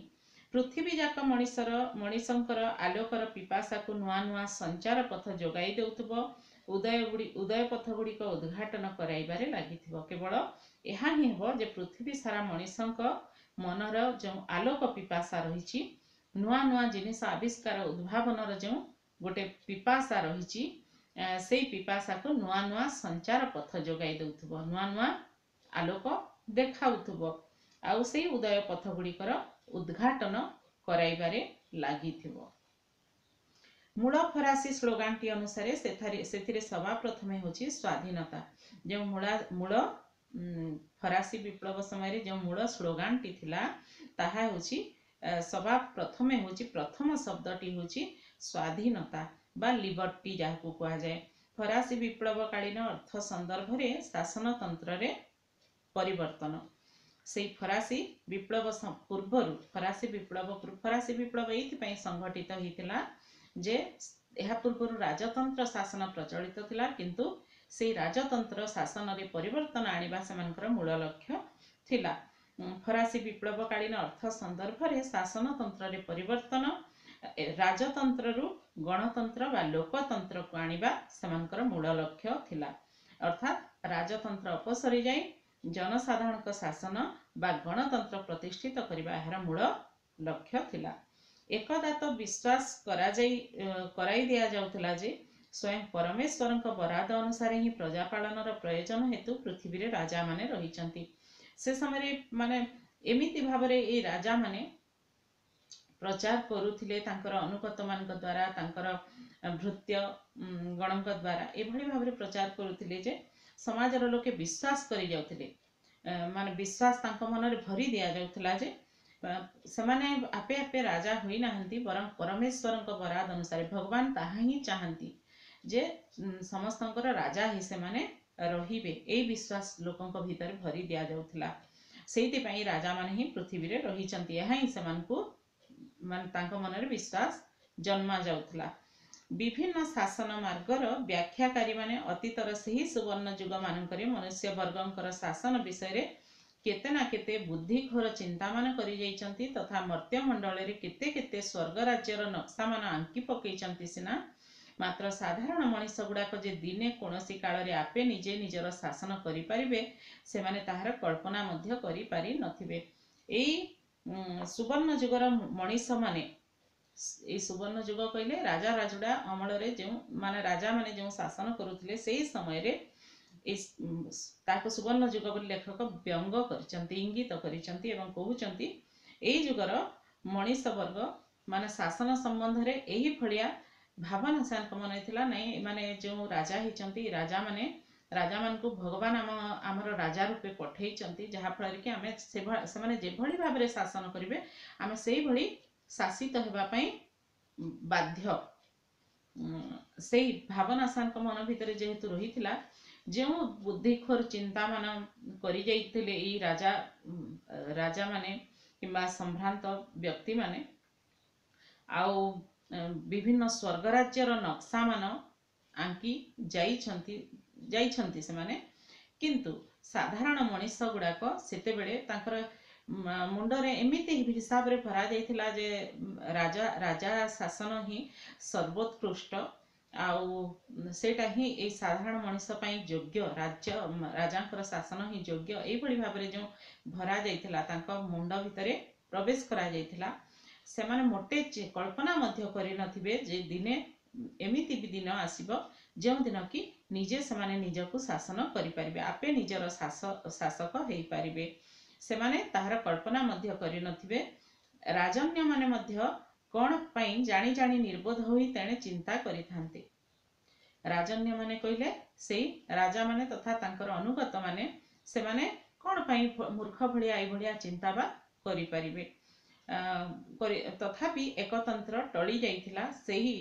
ପୃଥିବୀ ଯାକ ମଣିଷର ମଣିଷଙ୍କର ଆଲୋକର ପିପାସାକୁ ନୂଆ ନୂଆ ସଞ୍ଚାର ପଥ ଯୋଗାଇ ଦେଉଥିବ, ଉଦୟ ଗୁଡ଼ି ଉଦୟ ପଥ ଗୁଡ଼ିକ ଉଦ୍ଘାଟନ କରାଇବାରେ ଲାଗିଥିବ। କେବଳ ଏହା ହିଁ ହେବ ଯେ ପୃଥିବୀ ସାରା ମଣିଷଙ୍କ ମନର ଯେଉଁ ଆଲୋକ ପିପାସା ରହିଛି, ନୂଆ ନୂଆ ଜିନିଷ ଆବିଷ୍କାର ଉଦ୍ଭାବନର ଯେଉଁ ଗୋଟେ ପିପାସା ରହିଛି, ସେଇ ପିପାସାକୁ ନୂଆ ନୂଆ ସଞ୍ଚାର ପଥ ଯୋଗାଇ ଦେଉଥିବ, ନୂଆ ନୂଆ ଆଲୋକ ଦେଖାଉଥିବ ଆଉ ସେଇ ଉଦୟ ପଥ ଗୁଡ଼ିକର ଉଦ୍ଘାଟନ କରାଇବାରେ ଲାଗିଥିବ। ମୂଳ ଫରାସୀ ସ୍ଲୋଗାନଟି ଅନୁସାରେ ସେଠାରେ ସେଥିରେ ସଭା ପ୍ରଥମେ ହେଉଛି ସ୍ୱାଧୀନତା। ଯେଉଁ ମୂଳା ମୂଳ ଫରାସୀ ବିପ୍ଳବ ସମୟରେ ଯେଉଁ ମୂଳ ସ୍ଲୋଗାନଟି ଥିଲା ତାହା ହେଉଛି ସଭା ପ୍ରଥମେ ହେଉଛି, ପ୍ରଥମ ଶବ୍ଦଟି ହେଉଛି ସ୍ୱାଧୀନତା ବା ଲିବର୍ଟି ଯାହାକୁ କୁହାଯାଏ। ଫରାସୀ ବିପ୍ଳବକାଳୀନ ଅର୍ଥ ସନ୍ଦର୍ଭରେ ଶାସନତନ୍ତ୍ରରେ ପରିବର୍ତ୍ତନ। ସେଇ ଫରାସୀ ବିପ୍ଳବ ପୂର୍ବରୁ, ଫରାସୀ ବିପ୍ଳବ ଫରାସୀ ବିପ୍ଳବ ଏଇଥିପାଇଁ ସଂଘଟିତ ହେଇଥିଲା ଯେ ଏହା ପୂର୍ବରୁ ରାଜତନ୍ତ୍ର ଶାସନ ପ୍ରଚଳିତ ଥିଲା, କିନ୍ତୁ ସେଇ ରାଜତନ୍ତ୍ର ଶାସନରେ ପରିବର୍ତ୍ତନ ଆଣିବା ସେମାନଙ୍କର ମୂଳ ଲକ୍ଷ୍ୟ ଥିଲା। ଫରାସୀ ବିପ୍ଳବକାଳୀନ ଅର୍ଥ ସନ୍ଦର୍ଭରେ ଶାସନତନ୍ତ୍ରରେ ପରିବର୍ତ୍ତନ, ରାଜତନ୍ତ୍ରରୁ ଗଣତନ୍ତ୍ର ବା ଲୋକତନ୍ତ୍ରକୁ ଆଣିବା ସେମାନଙ୍କର ମୂଳ ଲକ୍ଷ୍ୟ ଥିଲା। ଅର୍ଥାତ୍ ରାଜତନ୍ତ୍ର ଅପସରି ଯାଇ ଜନସାଧାରଣଙ୍କ ଶାସନ ବା ଗଣତନ୍ତ୍ର ପ୍ରତିଷ୍ଠିତ କରିବା ଏହାର ମୂଳ ଲକ୍ଷ୍ୟ ଥିଲା। ଏକଦା ତ ବିଶ୍ୱାସ କରାଯାଇ କରାଇ ଦିଆଯାଉଥିଲା ଯେ ସ୍ୱୟଂ ପରମେଶ୍ୱରଙ୍କ ବରାଦ ଅନୁସାରେ ହିଁ ପ୍ରଜାପାଳନର ପ୍ରୟୋଜନ ହେତୁ ପୃଥିବୀରେ ରାଜାମାନେ ରହିଛନ୍ତି। ସେ ସମୟରେ ମାନେ ଏମିତି ଭାବରେ ଏଇ ରାଜାମାନେ ପ୍ରଚାର କରୁଥିଲେ ତାଙ୍କର ଅନୁଗତମାନଙ୍କ ଦ୍ୱାରା, ତାଙ୍କର ଭୃତ୍ୟ ଗଣଙ୍କ ଦ୍ୱାରା ଏଭଳି ଭାବରେ ପ୍ରଚାର କରୁଥିଲେ ଯେ ସମାଜର ଲୋକେ ବିଶ୍ୱାସ କରି ଯାଉଥିଲେ, ମାନେ ବିଶ୍ୱାସ ତାଙ୍କ ମନରେ ଭରି ଦିଆଯାଉଥିଲା ଯେ ସେମାନେ ଆପେ ଆପେ ରାଜା ହୋଇନାହାନ୍ତି, ବରଂ ପରମେଶ୍ୱରଙ୍କ ବରାଦ ଅନୁସାରେ ଭଗବାନ ତାହା ହିଁ ଚାହାନ୍ତି ଯେ ସମସ୍ତଙ୍କର ରାଜା ହିଁ ସେମାନେ ରହିବେ। ଏଇ ବିଶ୍ୱାସ ଲୋକଙ୍କ ଭିତରେ ଭରି ଦିଆଯାଉଥିଲା। ସେଇଥିପାଇଁ ରାଜାମାନେ ହିଁ ପୃଥିବୀରେ ରହିଛନ୍ତି, ଏହା ହିଁ ସେମାନଙ୍କୁ ମାନେ ତାଙ୍କ ମନରେ ବିଶ୍ୱାସ ଜନ୍ମା ଯାଉଥିଲା। ବିଭିନ୍ନ ଶାସନ ମାର୍ଗର ବ୍ୟାଖ୍ୟାକାରୀମାନେ ଅତୀତର ସେହି ସୁବର୍ଣ୍ଣ ଯୁଗମାନଙ୍କରେ ମନୁଷ୍ୟ ବର୍ଗଙ୍କର ଶାସନ ବିଷୟରେ କେତେ ନା କେତେ ବୁଦ୍ଧିଘୋର ଚିନ୍ତାମାନ କରିଯାଇଛନ୍ତି ତଥା ମର୍ତ୍ତ୍ୟମଣ୍ଡଳରେ କେତେ କେତେ ସ୍ୱର୍ଗ ରାଜ୍ୟର ନକ୍ସାମାନ ଆଙ୍କି ପକେଇଛନ୍ତି ସିନା, ମାତ୍ର ସାଧାରଣ ମଣିଷ ଗୁଡ଼ାକ ଯେ ଦିନେ କୌଣସି କାଳରେ ଆପେ ନିଜେ ନିଜର ଶାସନ କରିପାରିବେ ସେମାନେ ତାହାର କଳ୍ପନା ମଧ୍ୟ କରିପାରି ନଥିବେ। ଏଇ ସୁବର୍ଣ୍ଣ ଯୁଗର ମଣିଷମାନେ ଏଇ ସୁବର୍ଣ୍ଣ ଯୁଗ କହିଲେ ରାଜା ରାଜୁଡ଼ା ଅମଳରେ ଯେଉଁ ମାନେ ରାଜାମାନେ ଯେଉଁ ଶାସନ କରୁଥିଲେ ସେଇ ସମୟରେ ଏଇ ତାକୁ ସୁବର୍ଣ୍ଣ ଯୁଗ ବୋଲି ଲେଖକ ବ୍ୟଙ୍ଗ କରିଛନ୍ତି, ଇଙ୍ଗିତ କରିଛନ୍ତି ଏବଂ କହୁଛନ୍ତି ଏଇ ଯୁଗର ମଣିଷ ବର୍ଗ ମାନେ ଶାସନ ସମ୍ବନ୍ଧରେ ଏହି ଭଳିଆ ଭାବନା ସେମାନଙ୍କ ମନରେ ଥିଲା। ନାଇଁ, ଏମାନେ ଯେଉଁ ରାଜା ହେଇଛନ୍ତି, ରାଜାମାନେ ରାଜାମାନଙ୍କୁ ଭଗବାନ ଆମ ଆମର ରାଜା ରୂପେ ପଠେଇଛନ୍ତି, ଯାହାଫଳରେ କି ଆମେ ସେମାନେ ଯେଭଳି ଭାବରେ ଶାସନ କରିବେ ଆମେ ସେଇଭଳି ଶାସିତ ହେବା ପାଇଁ ବାଧ୍ୟ। ସେଇ ଭାବନା ସେମାନଙ୍କ ମନ ଭିତରେ ଯେହେତୁ ରହିଥିଲା, ଯେଉଁ ବୁଦ୍ଧିଖୋର ଚିନ୍ତାମାନ କରିଯାଇଥିଲେ ଏଇ ରାଜା ରାଜାମାନେ କିମ୍ବା ସମ୍ଭ୍ରାନ୍ତ ବ୍ୟକ୍ତିମାନେ, ଆଉ ବିଭିନ୍ନ ସ୍ୱର୍ଗରାଜ୍ୟର ନକ୍ସାମାନ ଆଙ୍କି ଯାଇଛନ୍ତି ଯାଇଛନ୍ତି ସେମାନେ। କିନ୍ତୁ ସାଧାରଣ ମଣିଷ ଗୁଡ଼ାକ ସେତେବେଳେ ତାଙ୍କର ମୁଣ୍ଡରେ ଏମିତି ହିସାବରେ ଭରା ଯାଇଥିଲା ଯେ ରାଜା ରାଜା ଶାସନ ହିଁ ସର୍ବୋତ୍କୃଷ୍ଟ, ଆଉ ସେଇଟା ହିଁ ଏଇ ସାଧାରଣ ମଣିଷ ପାଇଁ ଯୋଗ୍ୟ, ରାଜ୍ୟ ରାଜାଙ୍କର ଶାସନ ହିଁ ଯୋଗ୍ୟ। ଏଇଭଳି ଭାବରେ ଯେଉଁ ଭରା ଯାଇଥିଲା, ତାଙ୍କ ମୁଣ୍ଡ ଭିତରେ ପ୍ରବେଶ କରାଯାଇଥିଲା, ସେମାନେ ମୋଟେ କଳ୍ପନା ମଧ୍ୟ କରିନଥିବେ ଯେ ଦିନେ ଏମିତି ବି ଦିନ ଆସିବ ଯେଉଁଦିନ କି ନିଜେ ସେମାନେ ନିଜକୁ ଶାସନ କରିପାରିବେ, ଆପେ ନିଜର ଶାସକ ହେଇପାରିବେ। ସେମାନେ ତାହାର କଳ୍ପନା ମଧ୍ୟ କରିନଥିବେ। ରାଜନ୍ୟମାନେ ମଧ୍ୟ କ'ଣ ପାଇଁ ଜାଣି ଜାଣି ନିର୍ବୋଧ ହୋଇ ତେଣେ ଚିନ୍ତା କରିଥାନ୍ତି। ରାଜନ୍ୟମାନେ କହିଲେ ସେଇ ରାଜାମାନେ ତଥା ତାଙ୍କର ଅନୁଗତମାନେ, ସେମାନେ କ'ଣ ପାଇଁ ମୂର୍ଖ ଭଳିଆ ଏଇଭଳିଆ ଚିନ୍ତା ବା କରିପାରିବେ? ତଥାପି ଏକତନ୍ତ୍ର ଟଳି ଯାଇଥିଲା। ସେହି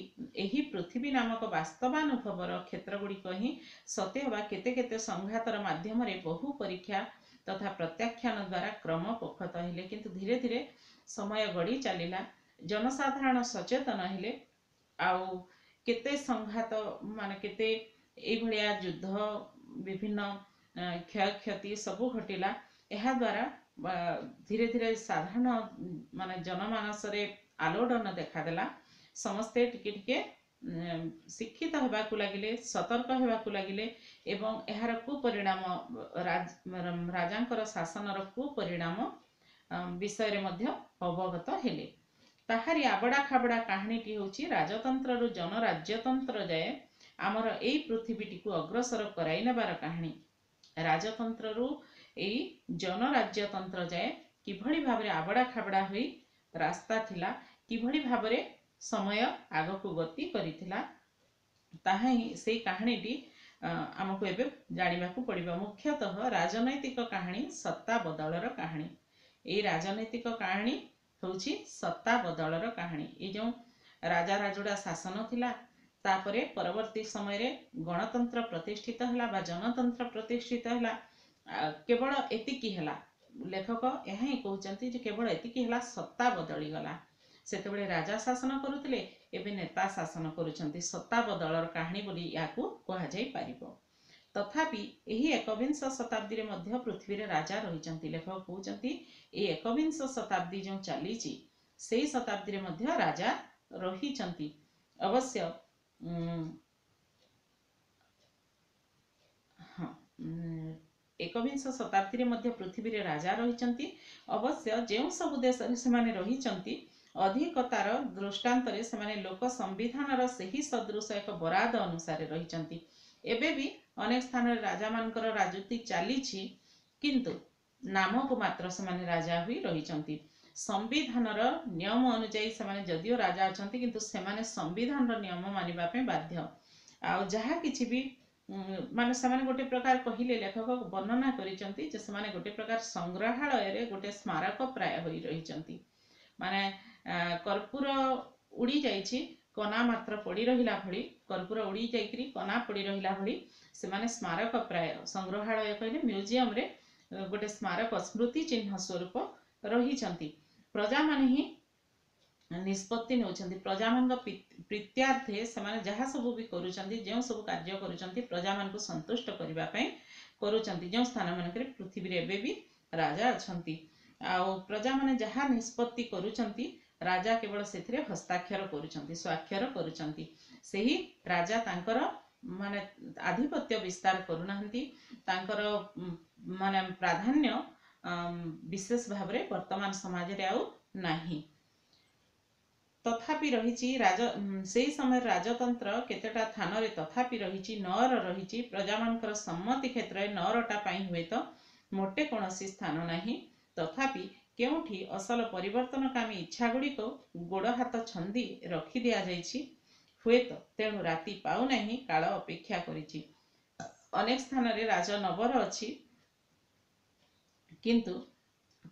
ଏହି ପୃଥିବୀ ନାମକ ବାସ୍ତବାନୁଭବର କ୍ଷେତ୍ର ଗୁଡ଼ିକ ହିଁ ସତେ ଅବା କେତେ କେତେ ସଂଘାତର ମାଧ୍ୟମରେ ବହୁ ପରୀକ୍ଷା ତଥା ପ୍ରତ୍ୟାଖ୍ୟାନ ଦ୍ୱାରା କ୍ରମ ପୋଖତ ହେଲେ। କିନ୍ତୁ ଧୀରେ ଧୀରେ ସମୟ ଗଡ଼ି ଚାଲିଲା, ଜନସାଧାରଣ ସଚେତନ ହେଲେ, ଆଉ କେତେ ସଂଘାତ ମାନେ କେତେ ଏଇଭଳିଆ ଯୁଦ୍ଧ, ବିଭିନ୍ନ କ୍ଷୟକ୍ଷତି ସବୁ ଘଟିଲା। ଏହାଦ୍ୱାରା ଧୀରେ ଧୀରେ ସାଧାରଣ ମାନେ ଜନମାନସରେ ଆଲୋଡ଼ନ ଦେଖାଦେଲା। ସମସ୍ତେ ଟିକେ ଟିକେ ଶିକ୍ଷିତ ହେବାକୁ ଲାଗିଲେ, ସତର୍କ ହେବାକୁ ଲାଗିଲେ ଏବଂ ଏହାର କୁପରିଣାମ, ରାଜାଙ୍କର ଶାସନର କୁପରିଣାମ ବିଷୟରେ ମଧ୍ୟ ଅବଗତ ହେଲେ। ତାହାରି ଆବଡ଼ା ଖାବଡ଼ା କାହାଣୀଟି ହେଉଛି ରାଜତନ୍ତ୍ରରୁ ଜନରାଜ୍ୟତନ୍ତ୍ର ଯାଏ ଆମର ଏଇ ପୃଥିବୀଟିକୁ ଅଗ୍ରସର କରାଇ ନେବାର କାହାଣୀ। ରାଜତନ୍ତ୍ରରୁ ଏଇ ଜନରାଜ୍ୟତନ୍ତ୍ର ଯାଏ କିଭଳି ଭାବରେ ଆବଡ଼ା ଖାବଡ଼ା ହୋଇ ରାସ୍ତା ଥିଲା, କିଭଳି ଭାବରେ ସମୟ ଆଗକୁ ଗତି କରିଥିଲା, ତାହା ହିଁ ସେଇ କାହାଣୀଟି ଆମକୁ ଏବେ ଜାଣିବାକୁ ପଡ଼ିବ। ମୁଖ୍ୟତଃ ରାଜନୈତିକ କାହାଣୀ ସତ୍ତା ବଦଳର କାହାଣୀ। ଏଇ ରାଜନୈତିକ କାହାଣୀ ହେଉଛି ସତ୍ତା ବଦଳର କାହାଣୀ। ଏଇ ଯେଉଁ ରାଜା ରାଜୁଡ଼ା ଶାସନ ଥିଲା, ତାପରେ ପରବର୍ତ୍ତୀ ସମୟରେ ଗଣତନ୍ତ୍ର ପ୍ରତିଷ୍ଠିତ ହେଲା ବା ଜନତନ୍ତ୍ର ପ୍ରତିଷ୍ଠିତ ହେଲା। କେବଳ ଏତିକି ହେଲା, ଲେଖକ ଏହା ହିଁ କହୁଛନ୍ତି ଯେ କେବଳ ଏତିକି ହେଲା, ସତ୍ତା ବଦଳିଗଲା। ସେତେବେଳେ ରାଜା ଶାସନ କରୁଥିଲେ, ଏବେ ନେତା ଶାସନ କରୁଛନ୍ତି। ସତ୍ତା ବଦଳର କାହାଣୀ ବୋଲି ଏହାକୁ କୁହାଯାଇପାରିବ। ତଥାପି ଏହି ଏକବିଂଶ ଶତାବ୍ଦୀରେ ମଧ୍ୟ ପୃଥିବୀରେ ରାଜା ରହିଛନ୍ତି। ଲେଖକ କହୁଛନ୍ତି ଏଇ ଏକବିଂଶ ଶତାବ୍ଦୀ ଯେଉଁ ଚାଲିଛି ସେଇ ଶତାବ୍ଦୀରେ ମଧ୍ୟ ରାଜା ରହିଛନ୍ତି। ଅବଶ୍ୟ ହଁ, ଏକବିଂଶ ଶତାବ୍ଦୀରେ ମଧ୍ୟ ପୃଥିବୀରେ ରାଜା ରହିଛନ୍ତି। ଅବଶ୍ୟ ଯେଉଁ ସବୁ ଦେଶରେ ସେମାନେ ରହିଛନ୍ତି, ଅଧିକତାର ଦୃଷ୍ଟାନ୍ତରେ ସେମାନେ ଲୋକ ସମ୍ବିଧାନର ସେହି ସଦୃଶ ଏକ ବରାଦ ଅନୁସାରେ ରହିଛନ୍ତି। ଏବେ ବି ଅନେକ ସ୍ଥାନରେ ରାଜାମାନଙ୍କର ରାଜୁତି ଚାଲିଛି, କିନ୍ତୁ ନାମକୁ ମାତ୍ର ସେମାନେ ରାଜା ହୋଇ ରହିଛନ୍ତି। ସମ୍ବିଧାନର ନିୟମ ଅନୁଯାୟୀ ସେମାନେ ଯଦିଓ ରାଜା ଅଛନ୍ତି, କିନ୍ତୁ ସେମାନେ ସମ୍ବିଧାନର ନିୟମ ମାନିବା ପାଇଁ ବାଧ୍ୟ। ଆଉ ଯାହା କିଛି ବି ମାନେ ସେମାନେ ଗୋଟେ ପ୍ରକାର କହିଲେ, ଲେଖକ ବର୍ଣ୍ଣନା କରିଛନ୍ତି ଯେ ସେମାନେ ଗୋଟେ ପ୍ରକାର ସଂଗ୍ରହାଳୟରେ ଗୋଟେ ସ୍ମାରକ ପ୍ରାୟ ହୋଇ ରହିଛନ୍ତି। ମାନେ କର୍ପୂର ଉଡ଼ି ଯାଇଛି, କନା ମାତ୍ର ପଡ଼ି ରହିଲା ଭଳି, କର୍ପୂର ଉଡ଼ି ଯାଇକରି କନା ପଡ଼ି ରହିଲା ଭଳି ସେମାନେ ସ୍ମାରକ ପ୍ରାୟ, ସଂଗ୍ରହାଳୟ କହିଲେ ମ୍ୟୁଜିୟମରେ ଗୋଟେ ସ୍ମାରକ ସ୍ମୃତି ଚିହ୍ନ ସ୍ୱରୂପ ରହିଛନ୍ତି। ପ୍ରଜାମାନେ ହିଁ ନିଷ୍ପତ୍ତି ନେଉଛନ୍ତି। ପ୍ରଜାମାନଙ୍କ ପ୍ରୀତ୍ୟାର୍ଥେ ସେମାନେ ଯାହା ସବୁ ବି କରୁଛନ୍ତି, ଯେଉଁ ସବୁ କାର୍ଯ୍ୟ କରୁଛନ୍ତି, ପ୍ରଜାମାନଙ୍କୁ ସନ୍ତୁଷ୍ଟ କରିବା ପାଇଁ କରୁଛନ୍ତି। ଯେଉଁ ସ୍ଥାନମାନଙ୍କରେ ପୃଥିବୀରେ ଏବେ ବି ରାଜା ଅଛନ୍ତି, ଆଉ ପ୍ରଜାମାନେ ଯାହା ନିଷ୍ପତ୍ତି କରୁଛନ୍ତି, ରାଜା କେବଳ ସେଥିରେ ହସ୍ତାକ୍ଷର କରୁଛନ୍ତି, ସ୍ୱାକ୍ଷର କରୁଛନ୍ତି। ସେହି ରାଜା ତାଙ୍କର ମାନେ ଆଧିପତ୍ୟ ବିସ୍ତାର କରୁନାହାନ୍ତି। ତାଙ୍କର ମାନେ ପ୍ରାଧାନ୍ୟ ବିଶେଷ ଭାବରେ ବର୍ତ୍ତମାନ ସମାଜରେ ଆଉ ନାହିଁ। ତଥାପି ରହିଛି ରାଜ ସେଇ ସମୟରେ ରାଜତନ୍ତ୍ର କେତେଟା ଥାନରେ ତଥାପି ରହିଛି, ନଅର ରହିଛି। ପ୍ରଜାମାନଙ୍କର ସମ୍ମତି କ୍ଷେତ୍ରରେ ନଅରଟା ପାଇଁ ହୁଏତ ମୋଟେ କୌଣସି ସ୍ଥାନ ନାହିଁ। ତଥାପି କେଉଁଠି ଅସଲ ପରିବର୍ତ୍ତନକାମୀ ଇଚ୍ଛା ଗୁଡ଼ିକ ଗୋଡ଼ ହାତ ଛନ୍ଦି ରଖି ଦିଆଯାଇଛି ହୁଏତ। ତେଣୁ ରାତି ପାଉନାହିଁ, କାଳ ଅପେକ୍ଷା କରିଛି। ଅନେକ ସ୍ଥାନରେ ରାଜନବର ଅଛି, କିନ୍ତୁ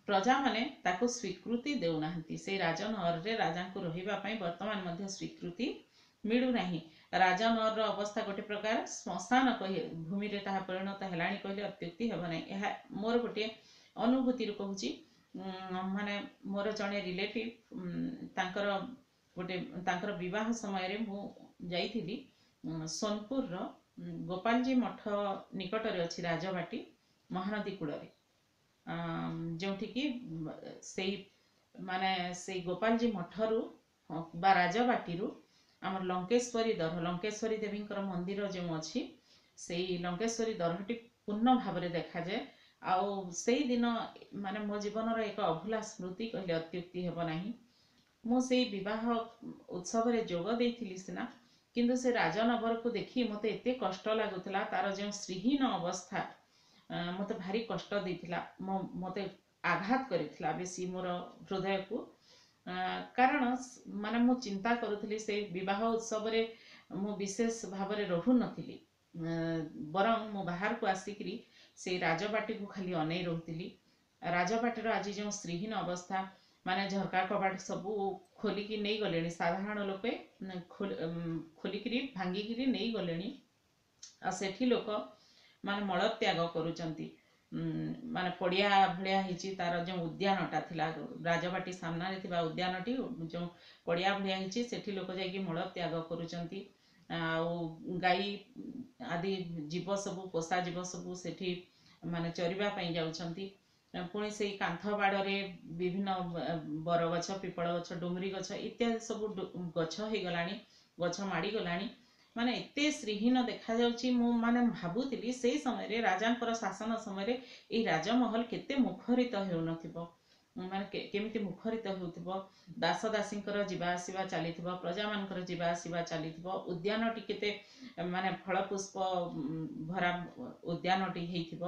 ପ୍ରଜାମାନେ ତାକୁ ସ୍ୱୀକୃତି ଦେଉନାହାନ୍ତି। ସେଇ ରାଜନଅରରେ ରାଜାଙ୍କୁ ରହିବା ପାଇଁ ବର୍ତ୍ତମାନ ମଧ୍ୟ ସ୍ୱୀକୃତି ମିଳୁନାହିଁ। ରାଜନଅରର ଅବସ୍ଥା ଗୋଟେ ପ୍ରକାର ଶ୍ମଶାନ କହି ଭୂମିରେ ତାହା ପରିଣତ ହେଲାଣି କହିଲେ ଅତ୍ୟୁକ୍ତି ହେବ ନାହିଁ। ଏହା ମୋର ଗୋଟିଏ ଅନୁଭୂତିରୁ କହୁଛି। ମାନେ ମୋର ଜଣେ ରିଲେଟିଭ୍, ତାଙ୍କର ଗୋଟେ ତାଙ୍କର ବିବାହ ସମୟରେ ମୁଁ ଯାଇଥିଲି। ସୋନପୁରର ଗୋପାଲଜୀ ମଠ ନିକଟରେ ଅଛି ରାଜବାଟୀ, ମହାନଦୀ କୂଳରେ, ଯେଉଁଠିକି ସେଇ ମାନେ ସେଇ ଗୋପାଲଜୀ ମଠରୁ ବା ରାଜବାଟୀରୁ ଆମର ଲଙ୍କେଶ୍ୱରୀ ଦର, ଲଙ୍କେଶ୍ୱରୀ ଦେବୀଙ୍କର ମନ୍ଦିର ଯେଉଁ ଅଛି, ସେଇ ଲଙ୍କେଶ୍ୱରୀ ଦରଟି ପୂର୍ଣ୍ଣ ଭାବରେ ଦେଖାଯାଏ। ଆଉ ସେଇଦିନ ମାନେ ମୋ ଜୀବନର ଏକ ଅଭୁଲା ସ୍ମୃତି କହିଲେ ଅତ୍ୟୁକ୍ତି ହେବ ନାହିଁ। ମୁଁ ସେଇ ବିବାହ ଉତ୍ସବରେ ଯୋଗ ଦେଇଥିଲି ସିନା, କିନ୍ତୁ ସେ ରାଜନବରକୁ ଦେଖି ମୋତେ ଏତେ କଷ୍ଟ ଲାଗୁଥିଲା। ତାର ଯେଉଁ ଶ୍ରୀହୀନ ଅବସ୍ଥା ମୋତେ ଭାରି କଷ୍ଟ ଦେଇଥିଲା, ମୋ ମୋତେ ଆଘାତ କରିଥିଲା ବେଶୀ ମୋର ହୃଦୟକୁ। କାରଣ ମାନେ ମୁଁ ଚିନ୍ତା କରୁଥିଲି, ସେଇ ବିବାହ ଉତ୍ସବରେ ମୁଁ ବିଶେଷ ଭାବରେ ରହୁନଥିଲି, ବରଂ ମୁଁ ବାହାରକୁ ଆସିକିରି ସେଇ ରାଜବାଟୀକୁ ଖାଲି ଅନେଇ ରହୁଥିଲି। ରାଜବାଟୀର ଆଜି ଯେଉଁ ଶ୍ରୀହୀନ ଅବସ୍ଥା, ମାନେ ଝରକା କବାଟ ସବୁ ଖୋଲିକି ନେଇଗଲେଣି ସାଧାରଣ ଲୋକେ, ଖୋଲିକିରି ଭାଙ୍ଗିକିରି ନେଇଗଲେଣି। ଆଉ ସେଠି ଲୋକ ମାନେ ମଳତ୍ୟାଗ କରୁଛନ୍ତି। ମାନେ ପଡ଼ିଆ ଭଳିଆ ହେଇଛି ତାର ଯେଉଁ ଉଦ୍ୟାନଟା ଥିଲା, ରାଜବାଟୀ ସାମ୍ନାରେ ଥିବା ଉଦ୍ୟାନଟି ଯେଉଁ ପଡ଼ିଆ ଭଳିଆ ହେଇଛି, ସେଠି ଲୋକ ଯାଇକି ମଳତ୍ୟାଗ କରୁଛନ୍ତି। ଆଉ ଗାଈ ଆଦି ଜୀବ ସବୁ, ପୋଷା ଜୀବ ସବୁ ସେଠି ମାନେ ଚରିବା ପାଇଁ ଯାଉଛନ୍ତି। ପୁଣି ସେଇ କାନ୍ଥ ବାଡ଼ରେ ବିଭିନ୍ନ ବରଗଛ, ପିପଳ ଗଛ, ଡୁମୁରି ଗଛ ଇତ୍ୟାଦି ସବୁ ଗଛ ହେଇଗଲାଣି, ଗଛ ମାଡ଼ିଗଲାଣି। ମାନେ ଏତେ ଶ୍ରୀହୀନ ଦେଖାଯାଉଛି। ମୁଁ ମାନେ ଭାବୁଥିଲି ସେଇ ସମୟରେ ରାଜାଙ୍କର ଶାସନ ସମୟରେ ଏଇ ରାଜମହଲ କେତେ ମୁଖରିତ ହେଉନଥିବ, ମାନେ କେମିତି ମୁଖରିତ ହେଉଥିବ। ଦାସ ଦାସୀଙ୍କର ଯିବା ଆସିବା ଚାଲିଥିବ, ପ୍ରଜାମାନଙ୍କର ଯିବା ଆସିବା ଚାଲିଥିବ। ଉଦ୍ୟାନଟି କେତେ ମାନେ ଫଳ ପୁଷ୍ପ ଭରା ଉଦ୍ୟାନଟି ହେଇଥିବ,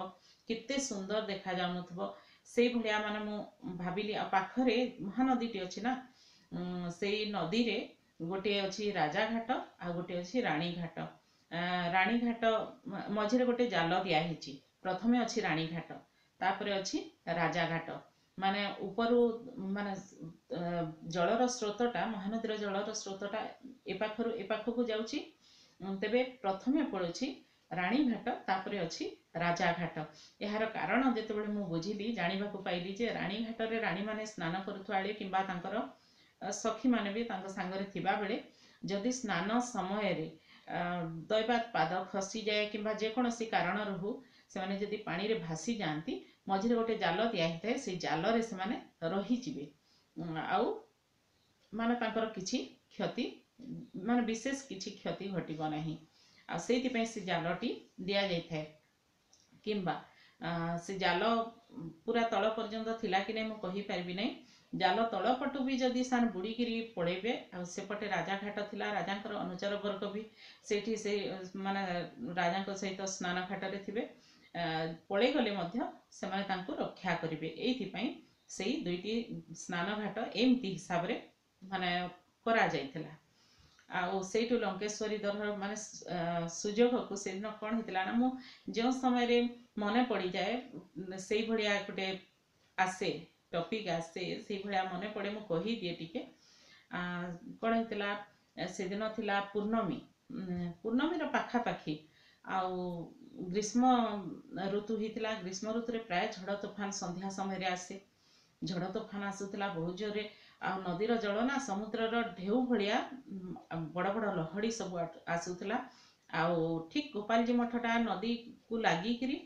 କେତେ ସୁନ୍ଦର ଦେଖାଯାଉନଥିବ ସେଇଭଳିଆ ମାନେ ମୁଁ ଭାବିଲି। ଆଉ ପାଖରେ ମହାନଦୀଟି ଅଛି ନା, ସେଇ ନଦୀରେ ଗୋଟିଏ ଅଛି ରାଜାଘାଟ ଆଉ ଗୋଟିଏ ଅଛି ରାଣୀଘାଟ। ରାଣୀଘାଟ ମଝିରେ ଗୋଟେ ଜାଲ ଦିଆହେଇଛି। ପ୍ରଥମେ ଅଛି ରାଣୀଘାଟ, ତାପରେ ଅଛି ରାଜାଘାଟ। ମାନେ ଉପରୁ ମାନେ ଜଳର ସ୍ରୋତଟା, ମହାନଦୀର ଜଳର ସ୍ରୋତଟା ଏ ପାଖରୁ ଏ ପାଖକୁ ଯାଉଛି। ତେବେ ପ୍ରଥମେ ପଡ଼ୁଛି ରାଣୀଘାଟ, ତାପରେ ଅଛି ରାଜାଘାଟ। ଏହାର କାରଣ ଯେତେବେଳେ ମୁଁ ବୁଝିଲି, ଜାଣିବାକୁ ପାଇଲି ଯେ ରାଣୀଘାଟରେ ରାଣୀମାନେ ସ୍ନାନ କରୁଥିବା ବେଳେ କିମ୍ବା ତାଙ୍କର ସଖୀମାନେ ବି ତାଙ୍କ ସାଙ୍ଗରେ ଥିବାବେଳେ ଯଦି ସ୍ନାନ ସମୟରେ ଦୈବାତ ପାଦ ଖସିଯାଏ କିମ୍ବା ଯେକୌଣସି କାରଣରୁ ହଉ ସେମାନେ ଯଦି ପାଣିରେ ଭାସି ଯାଆନ୍ତି, ମଝିରେ ଗୋଟେ ଜାଲ ଦିଆ ହେଇଥାଏ, ସେଇ ଜାଲରେ ସେମାନେ ରହିଯିବେ ଆଉ ମାନେ ତାଙ୍କର କିଛି କ୍ଷତି, ମାନେ ବିଶେଷ କିଛି କ୍ଷତି ଘଟିବ ନାହିଁ। ଆଉ ସେଇଥିପାଇଁ ସେ ଜାଲଟି ଦିଆଯାଇଥାଏ। କିମ୍ବା ସେ ଜାଲ ପୁରା ତଳ ପର୍ଯ୍ୟନ୍ତ ଥିଲା କି ନାହିଁ ମୁଁ କହିପାରିବି ନାହିଁ। ଜାଲ ତଳ ପଟୁ ବି ଯଦି ସେମାନେ ବୁଡ଼ିକିରି ପଳେଇବେ, ଆଉ ସେପଟେ ରାଜାଘାଟ ଥିଲା, ରାଜାଙ୍କର ଅନୁଚର ବର୍ଗ ବି ସେଇଠି ସେ ମାନେ ରାଜାଙ୍କ ସହିତ ସ୍ନାନ ଘାଟରେ ଥିବେ, ପଳେଇଗଲେ ମଧ୍ୟ ସେମାନେ ତାଙ୍କୁ ରକ୍ଷା କରିବେ। ଏଇଥିପାଇଁ ସେଇ ଦୁଇଟି ସ୍ନାନ ଘାଟ ଏମିତି ହିସାବରେ ମାନେ କରାଯାଇଥିଲା। ଆଉ ସେଇଠୁ ଲଙ୍କେଶ୍ୱରୀ ଦର ମାନେ ସୁଯୋଗକୁ ସେଦିନ କ'ଣ ହେଇଥିଲା ନା, ମୁଁ ଯେଉଁ ସମୟରେ ମନେ ପଡ଼ିଯାଏ ସେଇଭଳିଆ ଗୋଟେ ଆସେ ଟପିକ୍ ଆସେ, ସେଇଭଳିଆ ମନେ ପଡ଼େ, ମୁଁ କହିଦିଏ ଟିକେ। କ'ଣ ହେଇଥିଲା ସେଦିନ ଥିଲା ପୂର୍ଣ୍ଣମୀ, ପୂର୍ଣ୍ଣମୀର ପାଖାପାଖି, ଆଉ ଗ୍ରୀଷ୍ମ ଋତୁ ହେଇଥିଲା। ଗ୍ରୀଷ୍ମ ଋତୁରେ ପ୍ରାୟ ଝଡ଼ ତୋଫାନ ସନ୍ଧ୍ୟା ସମୟରେ ଆସେ। ଝଡ଼ ତୋଫାନ ଆସୁଥିଲା ବହୁତ ଜୋରରେ, ଆଉ ନଦୀର ଜଳ ନା ସମୁଦ୍ରର ଢେଉ ଭଳିଆ ବଡ଼ ବଡ଼ ଲହଡ଼ି ସବୁ ଆସୁଥିଲା। ଆଉ ଠିକ୍ ଗୋପାଲଜୀ ମଠଟା ନଦୀକୁ ଲାଗିକିରି,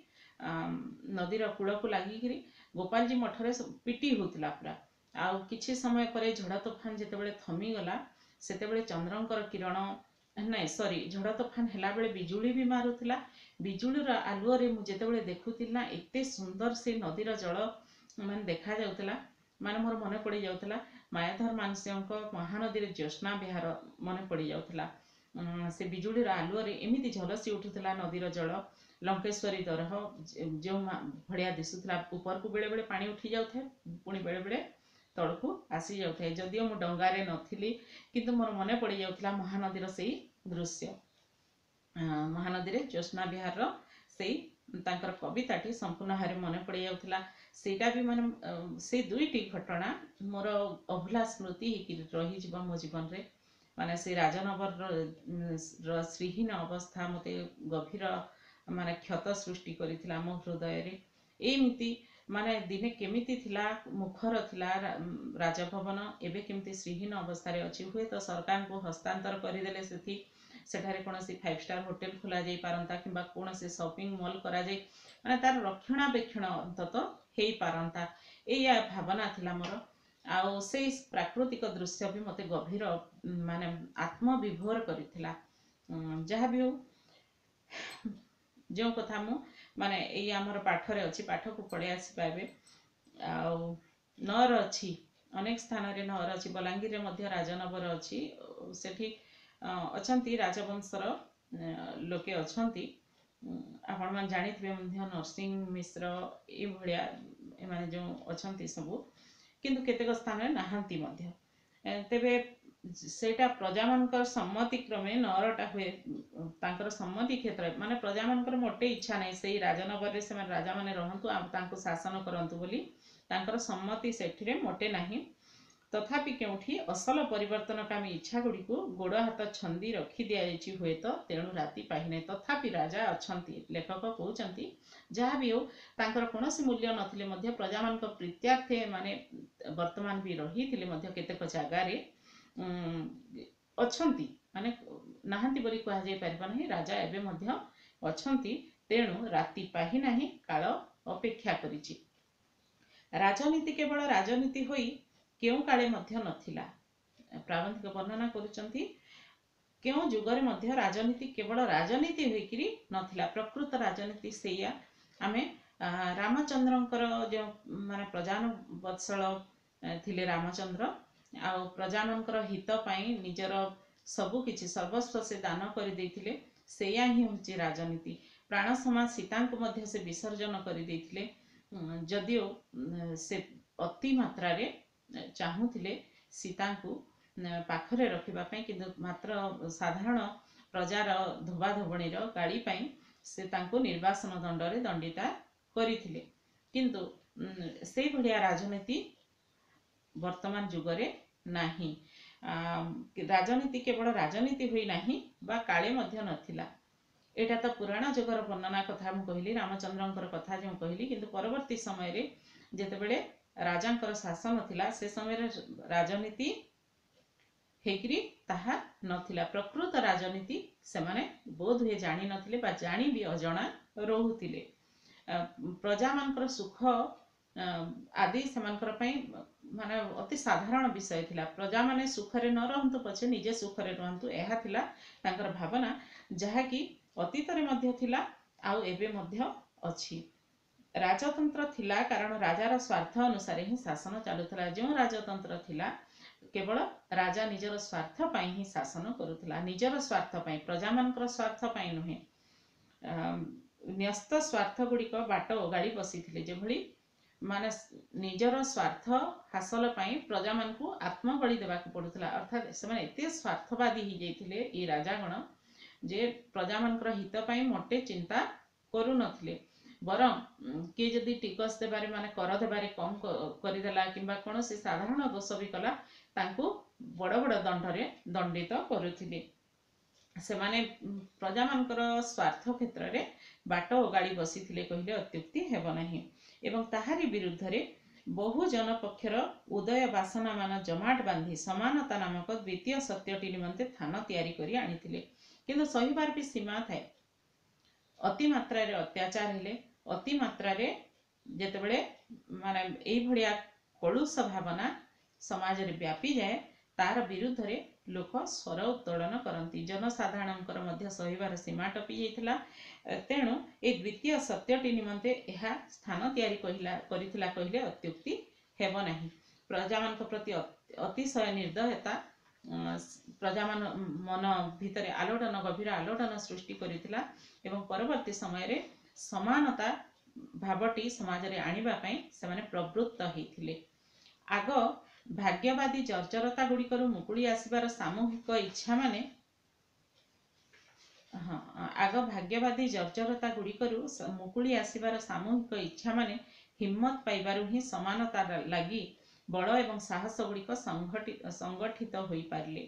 ନଦୀର କୂଳକୁ ଲାଗିକିରି ଗୋପାଲଜୀ ମଠରେ ପିଟି ହେଉଥିଲା ପୁରା। ଆଉ କିଛି ସମୟ ପରେ ଝଡ଼ ତୋଫାନ ଯେତେବେଳେ ଥମିଗଲା, ସେତେବେଳେ ଚନ୍ଦ୍ରଙ୍କର କିରଣ, ନାଇଁ ସରି, ଝଡ଼ ତୋଫାନ ହେଲାବେଳେ ବିଜୁଳି ବି ମାରୁଥିଲା। ବିଜୁଳିର ଆଲୁଅରେ ମୁଁ ଯେତେବେଳେ ଦେଖୁଥିଲି ନା, ଏତେ ସୁନ୍ଦର ସେ ନଦୀର ଜଳ ମାନେ ଦେଖାଯାଉଥିଲା। ମାନେ ମୋର ମନେ ପଡ଼ିଯାଉଥିଲା ମାୟାଧର ମାନସିଂହଙ୍କ ମହାନଦୀରେ ଜ୍ୟୋତ୍ସ୍ନା ବିହାର ମନେ ପଡ଼ିଯାଉଥିଲା। ସେ ବିଜୁଳିର ଆଲୁଅରେ ଏମିତି ଝଲସି ଉଠୁଥିଲା ନଦୀର ଜଳ। ଲଙ୍କେଶ୍ୱରୀ ଦରହ ଯେଉଁ ଭଳିଆ ଦିଶୁଥିଲା, ଉପରକୁ ବେଳେବେଳେ ପାଣି ଉଠି ଯାଉଥାଏ, ପୁଣି ବେଳେବେଳେ ତଳକୁ ଆସିଯାଉଥାଏ। ଯଦିଓ ମୁଁ ଡଙ୍ଗାରେ ନଥିଲି, କିନ୍ତୁ ମୋର ମନେ ପଡ଼ିଯାଉଥିଲା ମହାନଦୀର ସେଇ ଦୃଶ୍ୟ। ମହାନଦୀରେ ଜ୍ୟୋତ୍ସ୍ନା ବିହାରର ସେଇ ତାଙ୍କର କବିତାଟି ସମ୍ପୂର୍ଣ୍ଣ ଭାବରେ ମନେ ପଡ଼ିଯାଉଥିଲା। ସେଇଟା ବି ମାନେ ସେଇ ଦୁଇଟି ଘଟଣା ମୋର ଅଭୁଲା ସ୍ମୃତି ହେଇକି ରହିଯିବ ମୋ ଜୀବନରେ। ମାନେ ସେଇ ରାଜନଗରର ଶ୍ରୀହୀନ ଅବସ୍ଥା ମୋତେ ଗଭୀର ମାନେ କ୍ଷତ ସୃଷ୍ଟି କରିଥିଲା ମୋ ହୃଦୟରେ। ଏମିତି ମାନେ ଦିନେ କେମିତି ଥିଲା, ମୁଖର ଥିଲା ରାଜଭବନ, ଏବେ କେମିତି ଶ୍ରୀହୀନ ଅବସ୍ଥାରେ ଅଛି। ହୁଏତ ସରକାରଙ୍କୁ ହସ୍ତାନ୍ତର କରିଦେଲେ ସେଠି ସେଠାରେ କୌଣସି ଫାଇଭ୍ ଷ୍ଟାର ହୋଟେଲ ଖୋଲା ଯାଇପାରନ୍ତା କିମ୍ବା କୌଣସି ସପିଂ ମଲ୍ କରାଯାଇ ମାନେ ତାର ରକ୍ଷଣାବେକ୍ଷଣ ଅନ୍ତତଃ ହେଇପାରନ୍ତା, ଏଇଆ ଭାବନା ଥିଲା ମୋର। ଆଉ ସେଇ ପ୍ରାକୃତିକ ଦୃଶ୍ୟ ବି ମୋତେ ଗଭୀର ମାନେ ଆତ୍ମବିଭୋର କରିଥିଲା। ଯାହା ବି ହଉ, ଯେଉଁ କଥା ମୁଁ ମାନେ ଏଇ ଆମର ପାଠରେ ଅଛି, ପାଠକୁ ପଳେଇ ଆସିବା ଏବେ। ଆଉ ନଅର ଅଛି, ଅନେକ ସ୍ଥାନରେ ନଅର ଅଛି। ବଲାଙ୍ଗୀରରେ ମଧ୍ୟ ରାଜନବର ଅଛି, ସେଠି ଅଛନ୍ତି ରାଜବଂଶର ଲୋକେ ଅଛନ୍ତି। ଆପଣମାନେ ଜାଣିଥିବେ ମଧ୍ୟ ନରସିଂହ ମିଶ୍ର ଏଇଭଳିଆ ଏମାନେ ଯେଉଁ ଅଛନ୍ତି ସବୁ, କିନ୍ତୁ କେତେକ ସ୍ଥାନରେ ନାହାନ୍ତି ମଧ୍ୟ। ତେବେ ସେଇଟା ପ୍ରଜାମାନଙ୍କର ସମ୍ମତି କ୍ରମେ ନଅରଟା ହୁଏ, ତାଙ୍କର ସମ୍ମତି କ୍ଷେତ୍ରରେ। ମାନେ ପ୍ରଜାମାନଙ୍କର ମୋଟେ ଇଚ୍ଛା ନାହିଁ ସେଇ ରାଜନଗରରେ ସେମାନେ ରାଜାମାନେ ରହନ୍ତୁ ଆଉ ତାଙ୍କୁ ଶାସନ କରନ୍ତୁ ବୋଲି, ତାଙ୍କର ସମ୍ମତି ସେଠିରେ ମୋଟେ ନାହିଁ। ତଥାପି କେଉଁଠି ଅସଲ ପରିବର୍ତ୍ତନକାମୀ ଇଚ୍ଛା ଗୁଡ଼ିକୁ ଗୋଡ଼ ହାତ ଛନ୍ଦି ରଖି ଦିଆଯାଇଛି ହୁଏତ, ତେଣୁ ରାତି ପାହିନାହିଁ। ତଥାପି ରାଜା ଅଛନ୍ତି, ଲେଖକ କହୁଛନ୍ତି। ଯାହା ବି ହେଉ, ତାଙ୍କର କୌଣସି ମୂଲ୍ୟ ନଥିଲେ ମଧ୍ୟ ପ୍ରଜାମାନଙ୍କ ପ୍ରୀତ୍ୟାର୍ଥେ ମାନେ ବର୍ତ୍ତମାନ ବି ରହିଥିଲେ ମଧ୍ୟ କେତେକ ଜାଗାରେ ଅଛନ୍ତି, ମାନେ ନାହାନ୍ତି ବୋଲି କୁହାଯାଇ ପାରିବ ନାହିଁ। ରାଜା ଏବେ ମଧ୍ୟ ଅଛନ୍ତି, ତେଣୁ ରାତି ପାହି ନାହିଁ, କାଳ ଅପେକ୍ଷା କରିଛି। ରାଜନୀତି କେବଳ ରାଜନୀତି ହୋଇ କେଉଁ କାଳେ ମଧ୍ୟ ନଥିଲା। ପ୍ରାବନ୍ଧିକ ବର୍ଣ୍ଣନା କରୁଛନ୍ତି, କେଉଁ ଯୁଗରେ ମଧ୍ୟ ରାଜନୀତି କେବଳ ରାଜନୀତି ହୋଇକିରି ନଥିଲା। ପ୍ରକୃତ ରାଜନୀତି ସେଇଆ। ଆମେ ରାମଚନ୍ଦ୍ରଙ୍କର ଯେଉଁ ମାନେ ପ୍ରଜାନୁବତ୍ସଳ ଥିଲେ ରାମଚନ୍ଦ୍ର, ଆଉ ପ୍ରଜାମାନଙ୍କର ହିତ ପାଇଁ ନିଜର ସବୁ କିଛି ସର୍ବସ୍ୱ ସେ ଦାନ କରିଦେଇଥିଲେ, ସେଇଆ ହିଁ ହେଉଛି ରାଜନୀତି। ପ୍ରାଣ ସମାଜ ସୀତାଙ୍କୁ ମଧ୍ୟ ସେ ବିସର୍ଜନ କରିଦେଇଥିଲେ, ଯଦିଓ ସେ ଅତି ମାତ୍ରାରେ ଚାହୁଁଥିଲେ ସୀତାଙ୍କୁ ପାଖରେ ରଖିବା ପାଇଁ, କିନ୍ତୁ ମାତ୍ର ସାଧାରଣ ପ୍ରଜାର ଧୋବାଧୋବଣୀର ଗାଳି ପାଇଁ ସେ ତାଙ୍କୁ ନିର୍ବାସନ ଦଣ୍ଡରେ ଦଣ୍ଡିତା କରିଥିଲେ। କିନ୍ତୁ ସେଇଭଳିଆ ରାଜନୀତି ବର୍ତ୍ତମାନ ଯୁଗରେ ନାହିଁ। ରାଜନୀତି କେବଳ ରାଜନୀତି ହୋଇନାହିଁ ବା କାଳେ ମଧ୍ୟ ନଥିଲା। ଏଇଟା ତ ପୁରାଣ ଯୁଗର ବର୍ଣ୍ଣନା କଥା ମୁଁ କହିଲି, ରାମଚନ୍ଦ୍ରଙ୍କର କଥା ଯେଉଁ କହିଲି। କିନ୍ତୁ ପରବର୍ତ୍ତୀ ସମୟରେ ଯେତେବେଳେ ରାଜାଙ୍କର ଶାସନ ଥିଲା, ସେ ସମୟରେ ରାଜନୀତି ହେଇକିରି ତାହା ନଥିଲା। ପ୍ରକୃତ ରାଜନୀତି ସେମାନେ ବୋଧହୁଏ ଜାଣିନଥିଲେ ବା ଜାଣି ବି ଅଜଣା ରହୁଥିଲେ। ପ୍ରଜାମାନଙ୍କର ସୁଖ ଆଦି ସେମାନଙ୍କର ପାଇଁ ମାନେ ଅତି ସାଧାରଣ ବିଷୟ ଥିଲା। ପ୍ରଜାମାନେ ସୁଖରେ ନ ରହନ୍ତୁ ପଛେ ନିଜେ ସୁଖରେ ରୁହନ୍ତୁ, ଏହା ଥିଲା ତାଙ୍କର ଭାବନା, ଯାହାକି ଅତୀତରେ ମଧ୍ୟ ଥିଲା ଆଉ ଏବେ ମଧ୍ୟ ଅଛି। ରାଜତନ୍ତ୍ର ଥିଲା, କାରଣ ରାଜାର ସ୍ୱାର୍ଥ ଅନୁସାରେ ହିଁ ଶାସନ ଚାଲୁଥିଲା। ଯେଉଁ ରାଜତନ୍ତ୍ର ଥିଲା, କେବଳ ରାଜା ନିଜର ସ୍ୱାର୍ଥ ପାଇଁ ହିଁ ଶାସନ କରୁଥିଲା, ନିଜର ସ୍ୱାର୍ଥ ପାଇଁ, ପ୍ରଜାମାନଙ୍କର ସ୍ୱାର୍ଥ ପାଇଁ ନୁହେଁ। ନ୍ୟସ୍ତ ସ୍ୱାର୍ଥ ଗୁଡ଼ିକ ବାଟ ଓଗାଳି ବସିଥିଲେ। ଯେଭଳି ମାନେ ନିଜର ସ୍ୱାର୍ଥ ହାସଲ ପାଇଁ ପ୍ରଜାମାନଙ୍କୁ ଆତ୍ମବଳି ଦେବାକୁ ପଡୁଥିଲା। ଅର୍ଥାତ୍ ସେମାନେ ଏତେ ସ୍ୱାର୍ଥବାଦୀ ହେଇଯାଇଥିଲେ ଏଇ ରାଜାଗଣ ଯେ ପ୍ରଜାମାନଙ୍କର ହିତ ପାଇଁ ମୋଟେ ଚିନ୍ତା କରୁନଥିଲେ। ବରଂ କିଏ ଯଦି ଟିକସ ଦେବାରେ ମାନେ କର ଦେବାରେ କମ୍ କରିଦେଲା କିମ୍ବା କୌଣସି ସାଧାରଣ ଦୋଷ ବି କଲା, ତାଙ୍କୁ ବଡ଼ ବଡ଼ ଦଣ୍ଡରେ ଦଣ୍ଡିତ କରୁଥିଲେ। ସେମାନେ ପ୍ରଜାମାନଙ୍କର ସ୍ୱାର୍ଥ କ୍ଷେତ୍ରରେ ବାଟ ଓଗାଳି ବସିଥିଲେ କହିଲେ ଅତ୍ୟୁକ୍ତି ହେବ ନାହିଁ। ଏବଂ ତାହାରି ବିରୁଦ୍ଧରେ ବହୁ ଜନପକ୍ଷର ଉଦୟ ବାସନାମାନ ଜମାଟ ବାନ୍ଧି ସମାନତା ନାମକ ଦ୍ୱିତୀୟ ସତ୍ୟଟି ନିମନ୍ତେ ଥାନ ତିଆରି କରି ଆଣିଥିଲେ। କିନ୍ତୁ ସହିବାର ବି ସୀମା ଥାଏ। ଅତିମାତ୍ରାରେ ଅତ୍ୟାଚାର ହେଲେ, ଅତିମାତ୍ରାରେ ଯେତେବେଳେ ମାନେ ଏଇଭଳିଆ କଳୁଷ ଭାବନା ସମାଜରେ ବ୍ୟାପିଯାଏ, ତାର ବିରୁଦ୍ଧରେ ଲୋକ ସ୍ୱର ଉତ୍ତୋଳନ କରନ୍ତି। ଜନସାଧାରଣଙ୍କର ମଧ୍ୟ ସହିବାର ସୀମା ଟପି ଯାଇଥିଲା, ତେଣୁ ଏ ଦ୍ୱିତୀୟ ସତ୍ୟଟି ନିମନ୍ତେ ଏହା ସ୍ଥାନ ତିଆରି କହିଲା କରିଥିଲା କହିଲେ ଅତ୍ୟୁକ୍ତି ହେବ ନାହିଁ। ପ୍ରଜାମାନଙ୍କ ପ୍ରତି ଅତିଶୟ ନିର୍ଦ୍ଦୟତା ପ୍ରଜାମାନ ମନ ଭିତରେ ଆଲୋଡ଼ନ, ଗଭୀର ଆଲୋଡ଼ନ ସୃଷ୍ଟି କରିଥିଲା ଏବଂ ପରବର୍ତ୍ତୀ ସମୟରେ ସମାନତା ଭାବଟି ସମାଜରେ ଆଣିବା ପାଇଁ ସେମାନେ ପ୍ରବୃତ୍ତ ହେଇଥିଲେ। ଆଗ ଭାଗ୍ୟବାଦୀ ଜର୍ଜରତା ଗୁଡ଼ିକରୁ ମୁକୁଳି ଆସିବାର ସାମୂହିକ ଇଚ୍ଛା ମାନେ, ହଁ, ଆଗ ଭାଗ୍ୟବାଦୀ ଜର୍ଜରତା ଗୁଡ଼ିକରୁ ମୁକୁଳି ଆସିବାର ସାମୂହିକ ଇଚ୍ଛା ମାନେ ହିମ୍ମତ ପାଇବାରୁ ହିଁ ସମାନତା ଲାଗି ବଳ ଏବଂ ସାହସ ଗୁଡ଼ିକ ସଂଗଠିତ ହୋଇପାରିଲେ।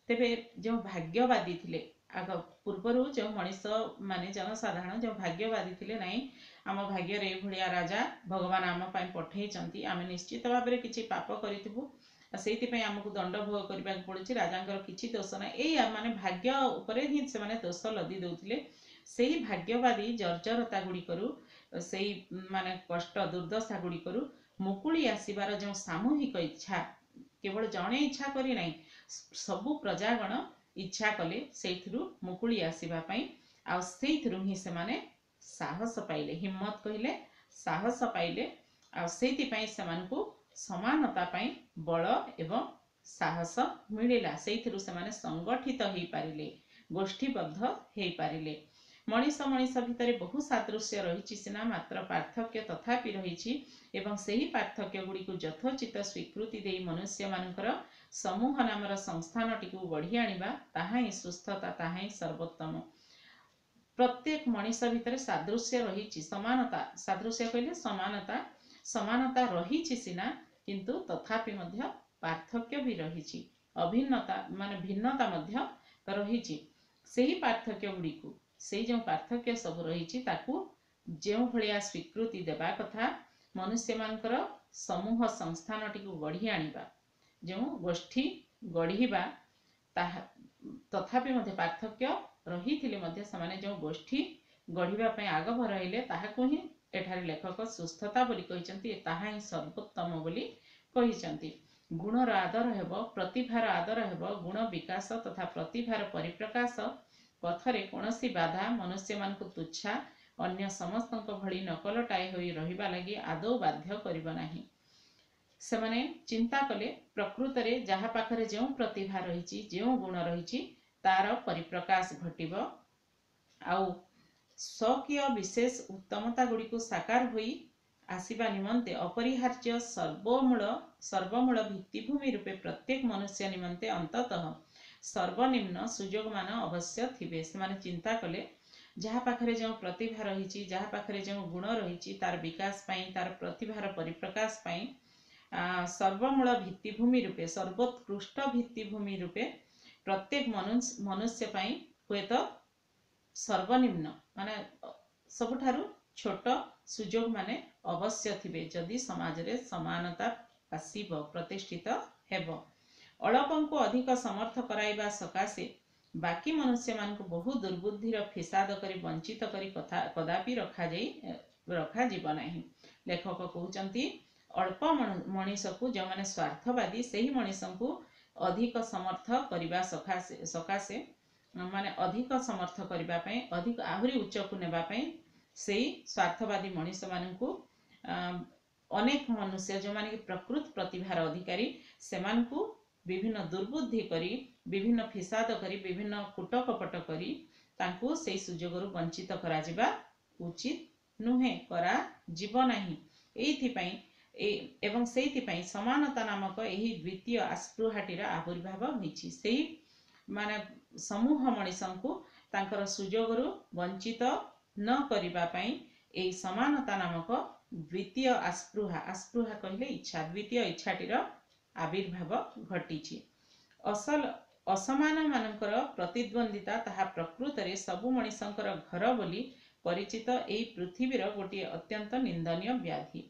ତେବେ ଯେଉଁ ଭାଗ୍ୟବାଦୀ ଥିଲେ ଆଗ ପୂର୍ବରୁ, ଯେଉଁ ମଣିଷ ମାନେ ଜନସାଧାରଣ ଯେଉଁ ଭାଗ୍ୟବାଦୀ ଥିଲେ, ନାଇଁ ଆମ ଭାଗ୍ୟରେ ଏଇଭଳିଆ ରାଜା ଭଗବାନ ଆମ ପାଇଁ ପଠେଇଛନ୍ତି, ଆମେ ନିଶ୍ଚିତ ଭାବରେ କିଛି ପାପ କରିଥିବୁ, ସେଇଥିପାଇଁ ଆମକୁ ଦଣ୍ଡ ଭୋଗ କରିବାକୁ ପଡୁଛି, ରାଜାଙ୍କର କିଛି ଦୋଷ ନାହିଁ, ଏଇ ମାନେ ଭାଗ୍ୟ ଉପରେ ହିଁ ସେମାନେ ଦୋଷ ଲଦି ଦେଉଥିଲେ। ସେଇ ଭାଗ୍ୟବାଦୀ ଜର୍ଜରତା ଗୁଡ଼ିକରୁ, ସେଇ ମାନେ କଷ୍ଟ ଦୁର୍ଦ୍ଦଶା ଗୁଡ଼ିକରୁ ମୁକୁଳି ଆସିବାର ଯେଉଁ ସାମୂହିକ ଇଚ୍ଛା, କେବଳ ଜଣେ ଇଚ୍ଛା କରି ନାହିଁ, ସବୁ ପ୍ରଜାଗଣ ଇଚ୍ଛା କଲେ ସେଇଥିରୁ ମୁକୁଳି ଆସିବା ପାଇଁ। ଆଉ ସେଇଥିରୁ ହିଁ ସେମାନେ ସାହସ ପାଇଲେ, ହିମ୍ମତ କହିଲେ ସାହସ ପାଇଲେ, ଆଉ ସେଇଥିପାଇଁ ସେମାନଙ୍କୁ ସମାନତା ପାଇଁ ବଳ ଏବଂ ସାହସ ମିଳିଲା। ସେଇଥିରୁ ସେମାନେ ସଂଗଠିତ ହେଇପାରିଲେ, ଗୋଷ୍ଠୀବଦ୍ଧ ହେଇପାରିଲେ। ମଣିଷ ମଣିଷ ଭିତରେ ବହୁ ସାଦୃଶ୍ୟ ରହିଛି ସିନା, ମାତ୍ର ପାର୍ଥକ୍ୟ ତଥାପି ରହିଛି ଏବଂ ସେହି ପାର୍ଥକ୍ୟ ଗୁଡ଼ିକୁ ଯଥୋଚିତ ସ୍ୱୀକୃତି ଦେଇ ମନୁଷ୍ୟମାନଙ୍କର ସମୂହ ନାମର ସଂସ୍ଥାନଟିକୁ ଗଢ଼ି ଆଣିବା, ତାହା ହିଁ ସୁସ୍ଥତା, ତାହା ହିଁ ସର୍ବୋତ୍ତମ। ପ୍ରତ୍ୟେକ ମଣିଷ ଭିତରେ ସାଦୃଶ୍ୟ ରହିଛି, ସମାନତା, ସାଦୃଶ୍ୟ କହିଲେ ସମାନତା, ସମାନତା ରହିଛି ସିନା, କିନ୍ତୁ ତଥାପି ମଧ୍ୟ ପାର୍ଥକ୍ୟ ବି ରହିଛି, ଅଭିନ୍ନତା ମାନେ ଭିନ୍ନତା ମଧ୍ୟ ରହିଛି। ସେହି ପାର୍ଥକ୍ୟ ଗୁଡ଼ିକୁ, ସେଇ ଯେଉଁ ପାର୍ଥକ୍ୟ ସବୁ ରହିଛି ତାକୁ ଯେଉଁ ଭଳିଆ ସ୍ୱୀକୃତି ଦେବା କଥା, ମନୁଷ୍ୟମାନଙ୍କର ସମୂହ ସଂସ୍ଥାନଟିକୁ ଗଢ଼ି ଆଣିବା, ଯେଉଁ ଗୋଷ୍ଠୀ ଗଢ଼ିବା, ତାହା ତଥାପି ମଧ୍ୟ ପାର୍ଥକ୍ୟ ରହିଥିଲେ ମଧ୍ୟ ସେମାନେ ଯେଉଁ ଗୋଷ୍ଠୀ ଗଢ଼ିବା ପାଇଁ ଆଗଭର ହେଲେ, ତାହାକୁ ହିଁ ଏଠାରେ ଲେଖକ ସୁସ୍ଥତା ବୋଲି କହିଛନ୍ତି, ତାହା ହିଁ ସର୍ବୋତ୍ତମ ବୋଲି କହିଛନ୍ତି। ଗୁଣର ଆଦର ହେବ, ପ୍ରତିଭାର ଆଦର ହେବ। ଗୁଣ ବିକାଶ ତଥା ପ୍ରତିଭାର ପରିପ୍ରକାଶ ପଥରେ କୌଣସି ବାଧା ମନୁଷ୍ୟମାନଙ୍କୁ ତୁଚ୍ଛା ଅନ୍ୟ ସମସ୍ତଙ୍କ ଭଳି ନକଲଟାଏ ହୋଇ ରହିବା ଲାଗି ଆଦୌ ବାଧ୍ୟ କରିବ ନାହିଁ। ସେମାନେ ଚିନ୍ତା କଲେ ପ୍ରକୃତରେ ଯାହା ପାଖରେ ଯେଉଁ ପ୍ରତିଭା ରହିଛି, ଯେଉଁ ଗୁଣ ରହିଛି, ତାର ପରିପ୍ରକାଶ ଘଟିବ ଆଉ ସ୍ୱକୀୟ ବିଶେଷ ଉତ୍ତମତା ଗୁଡ଼ିକୁ ସାକାର ହୋଇ ଆସିବା ନିମନ୍ତେ ଅପରିହାର୍ଯ୍ୟ ସର୍ବମୂଳ ସର୍ବମୂଳ ଭିତ୍ତିଭୂମି ରୂପେ ପ୍ରତ୍ୟେକ ମନୁଷ୍ୟ ନିମନ୍ତେ ଅନ୍ତତଃ ସର୍ବନିମ୍ନ ସୁଯୋଗମାନ ଅବଶ୍ୟ ଥିବେ। ସେମାନେ ଚିନ୍ତା କଲେ ଯାହା ପାଖରେ ଯେଉଁ ପ୍ରତିଭା ରହିଛି, ଯାହା ପାଖରେ ଯେଉଁ ଗୁଣ ରହିଛି, ତାର ବିକାଶ ପାଇଁ, ତାର ପ୍ରତିଭାର ପରିପ୍ରକାଶ ପାଇଁ ସର୍ବମୂଳ ଭିତ୍ତିଭୂମି ରୂପେ, ସର୍ବୋତ୍କୃଷ୍ଟ ଭିତ୍ତିଭୂମି ରୂପେ ପ୍ରତ୍ୟେକ ମନୁଷ୍ୟ ପାଇଁ ହୁଏତ ସର୍ବନିମ୍ନ ମାନେ ସବୁଠାରୁ ଛୋଟ ସୁଯୋଗ ମାନେ ଅବଶ୍ୟ ଥିବେ, ଯଦି ସମାଜରେ ସମାନତା ଆସିବ, ପ୍ରତିଷ୍ଠିତ ହେବ। ଅଳପଙ୍କୁ ଅଧିକ ସମର୍ଥ କରାଇବା ସକାଶେ ବାକି ମନୁଷ୍ୟମାନଙ୍କୁ ବହୁ ଦୁର୍ବୁଦ୍ଧିର ଫିସାଦ କରି ବଞ୍ଚିତ କରି କଥା କଦାପି ରଖାଯାଇ ରଖାଯିବ ନାହିଁ। ଲେଖକ କହୁଛନ୍ତି ଅଳ୍ପ ମଣିଷକୁ, ଯେଉଁମାନେ ସ୍ୱାର୍ଥବାଦୀ, ସେହି ମଣିଷଙ୍କୁ ଅଧିକ ସମର୍ଥ କରିବା ସକାଶେ ସକାଶେ ମାନେ ଅଧିକ ସମର୍ଥ କରିବା ପାଇଁ, ଅଧିକ ଆହୁରି ଉଚ୍ଚକୁ ନେବା ପାଇଁ ସେଇ ସ୍ୱାର୍ଥବାଦୀ ମଣିଷମାନଙ୍କୁ, ଅନେକ ମନୁଷ୍ୟ ଯେଉଁମାନେ କି ପ୍ରକୃତ ପ୍ରତିଭାର ଅଧିକାରୀ, ସେମାନଙ୍କୁ ବିଭିନ୍ନ ଦୁର୍ବୁଦ୍ଧି କରି, ବିଭିନ୍ନ ଫିସାଦ କରି, ବିଭିନ୍ନ କୂଟକପଟ କରି ତାଙ୍କୁ ସେଇ ସୁଯୋଗରୁ ବଞ୍ଚିତ କରାଯିବା ଉଚିତ ନୁହେଁ, କରାଯିବ ନାହିଁ। ଏଇଥିପାଇଁ ଏବଂ ସେଇଥିପାଇଁ ସମାନତା ନାମକ ଏହି ଦ୍ୱିତୀୟ ଆସ୍ପୃହାଟିର ଆବିର୍ଭାବ ହୋଇଛି। ସେଇ ମାନେ ସମୂହ ମଣିଷଙ୍କୁ ତାଙ୍କର ସୁଯୋଗରୁ ବଞ୍ଚିତ ନ କରିବା ପାଇଁ ଏଇ ସମାନତା ନାମକ ଦ୍ୱିତୀୟ ଆସ୍ପୃହା, ଆସ୍ପୃହା କହିଲେ ଇଚ୍ଛା, ଦ୍ୱିତୀୟ ଇଚ୍ଛାଟିର ଆବିର୍ଭାବ ଘଟିଛି। ଅସଲ ଅସମାନ ମାନଙ୍କର ପ୍ରତିଦ୍ୱନ୍ଦ୍ୱିତା ତାହା ପ୍ରକୃତରେ ସବୁ ମଣିଷଙ୍କର ଘର ବୋଲି ପରିଚିତ ଏଇ ପୃଥିବୀର ଗୋଟିଏ ଅତ୍ୟନ୍ତ ନିନ୍ଦନୀୟ ବ୍ୟାଧି।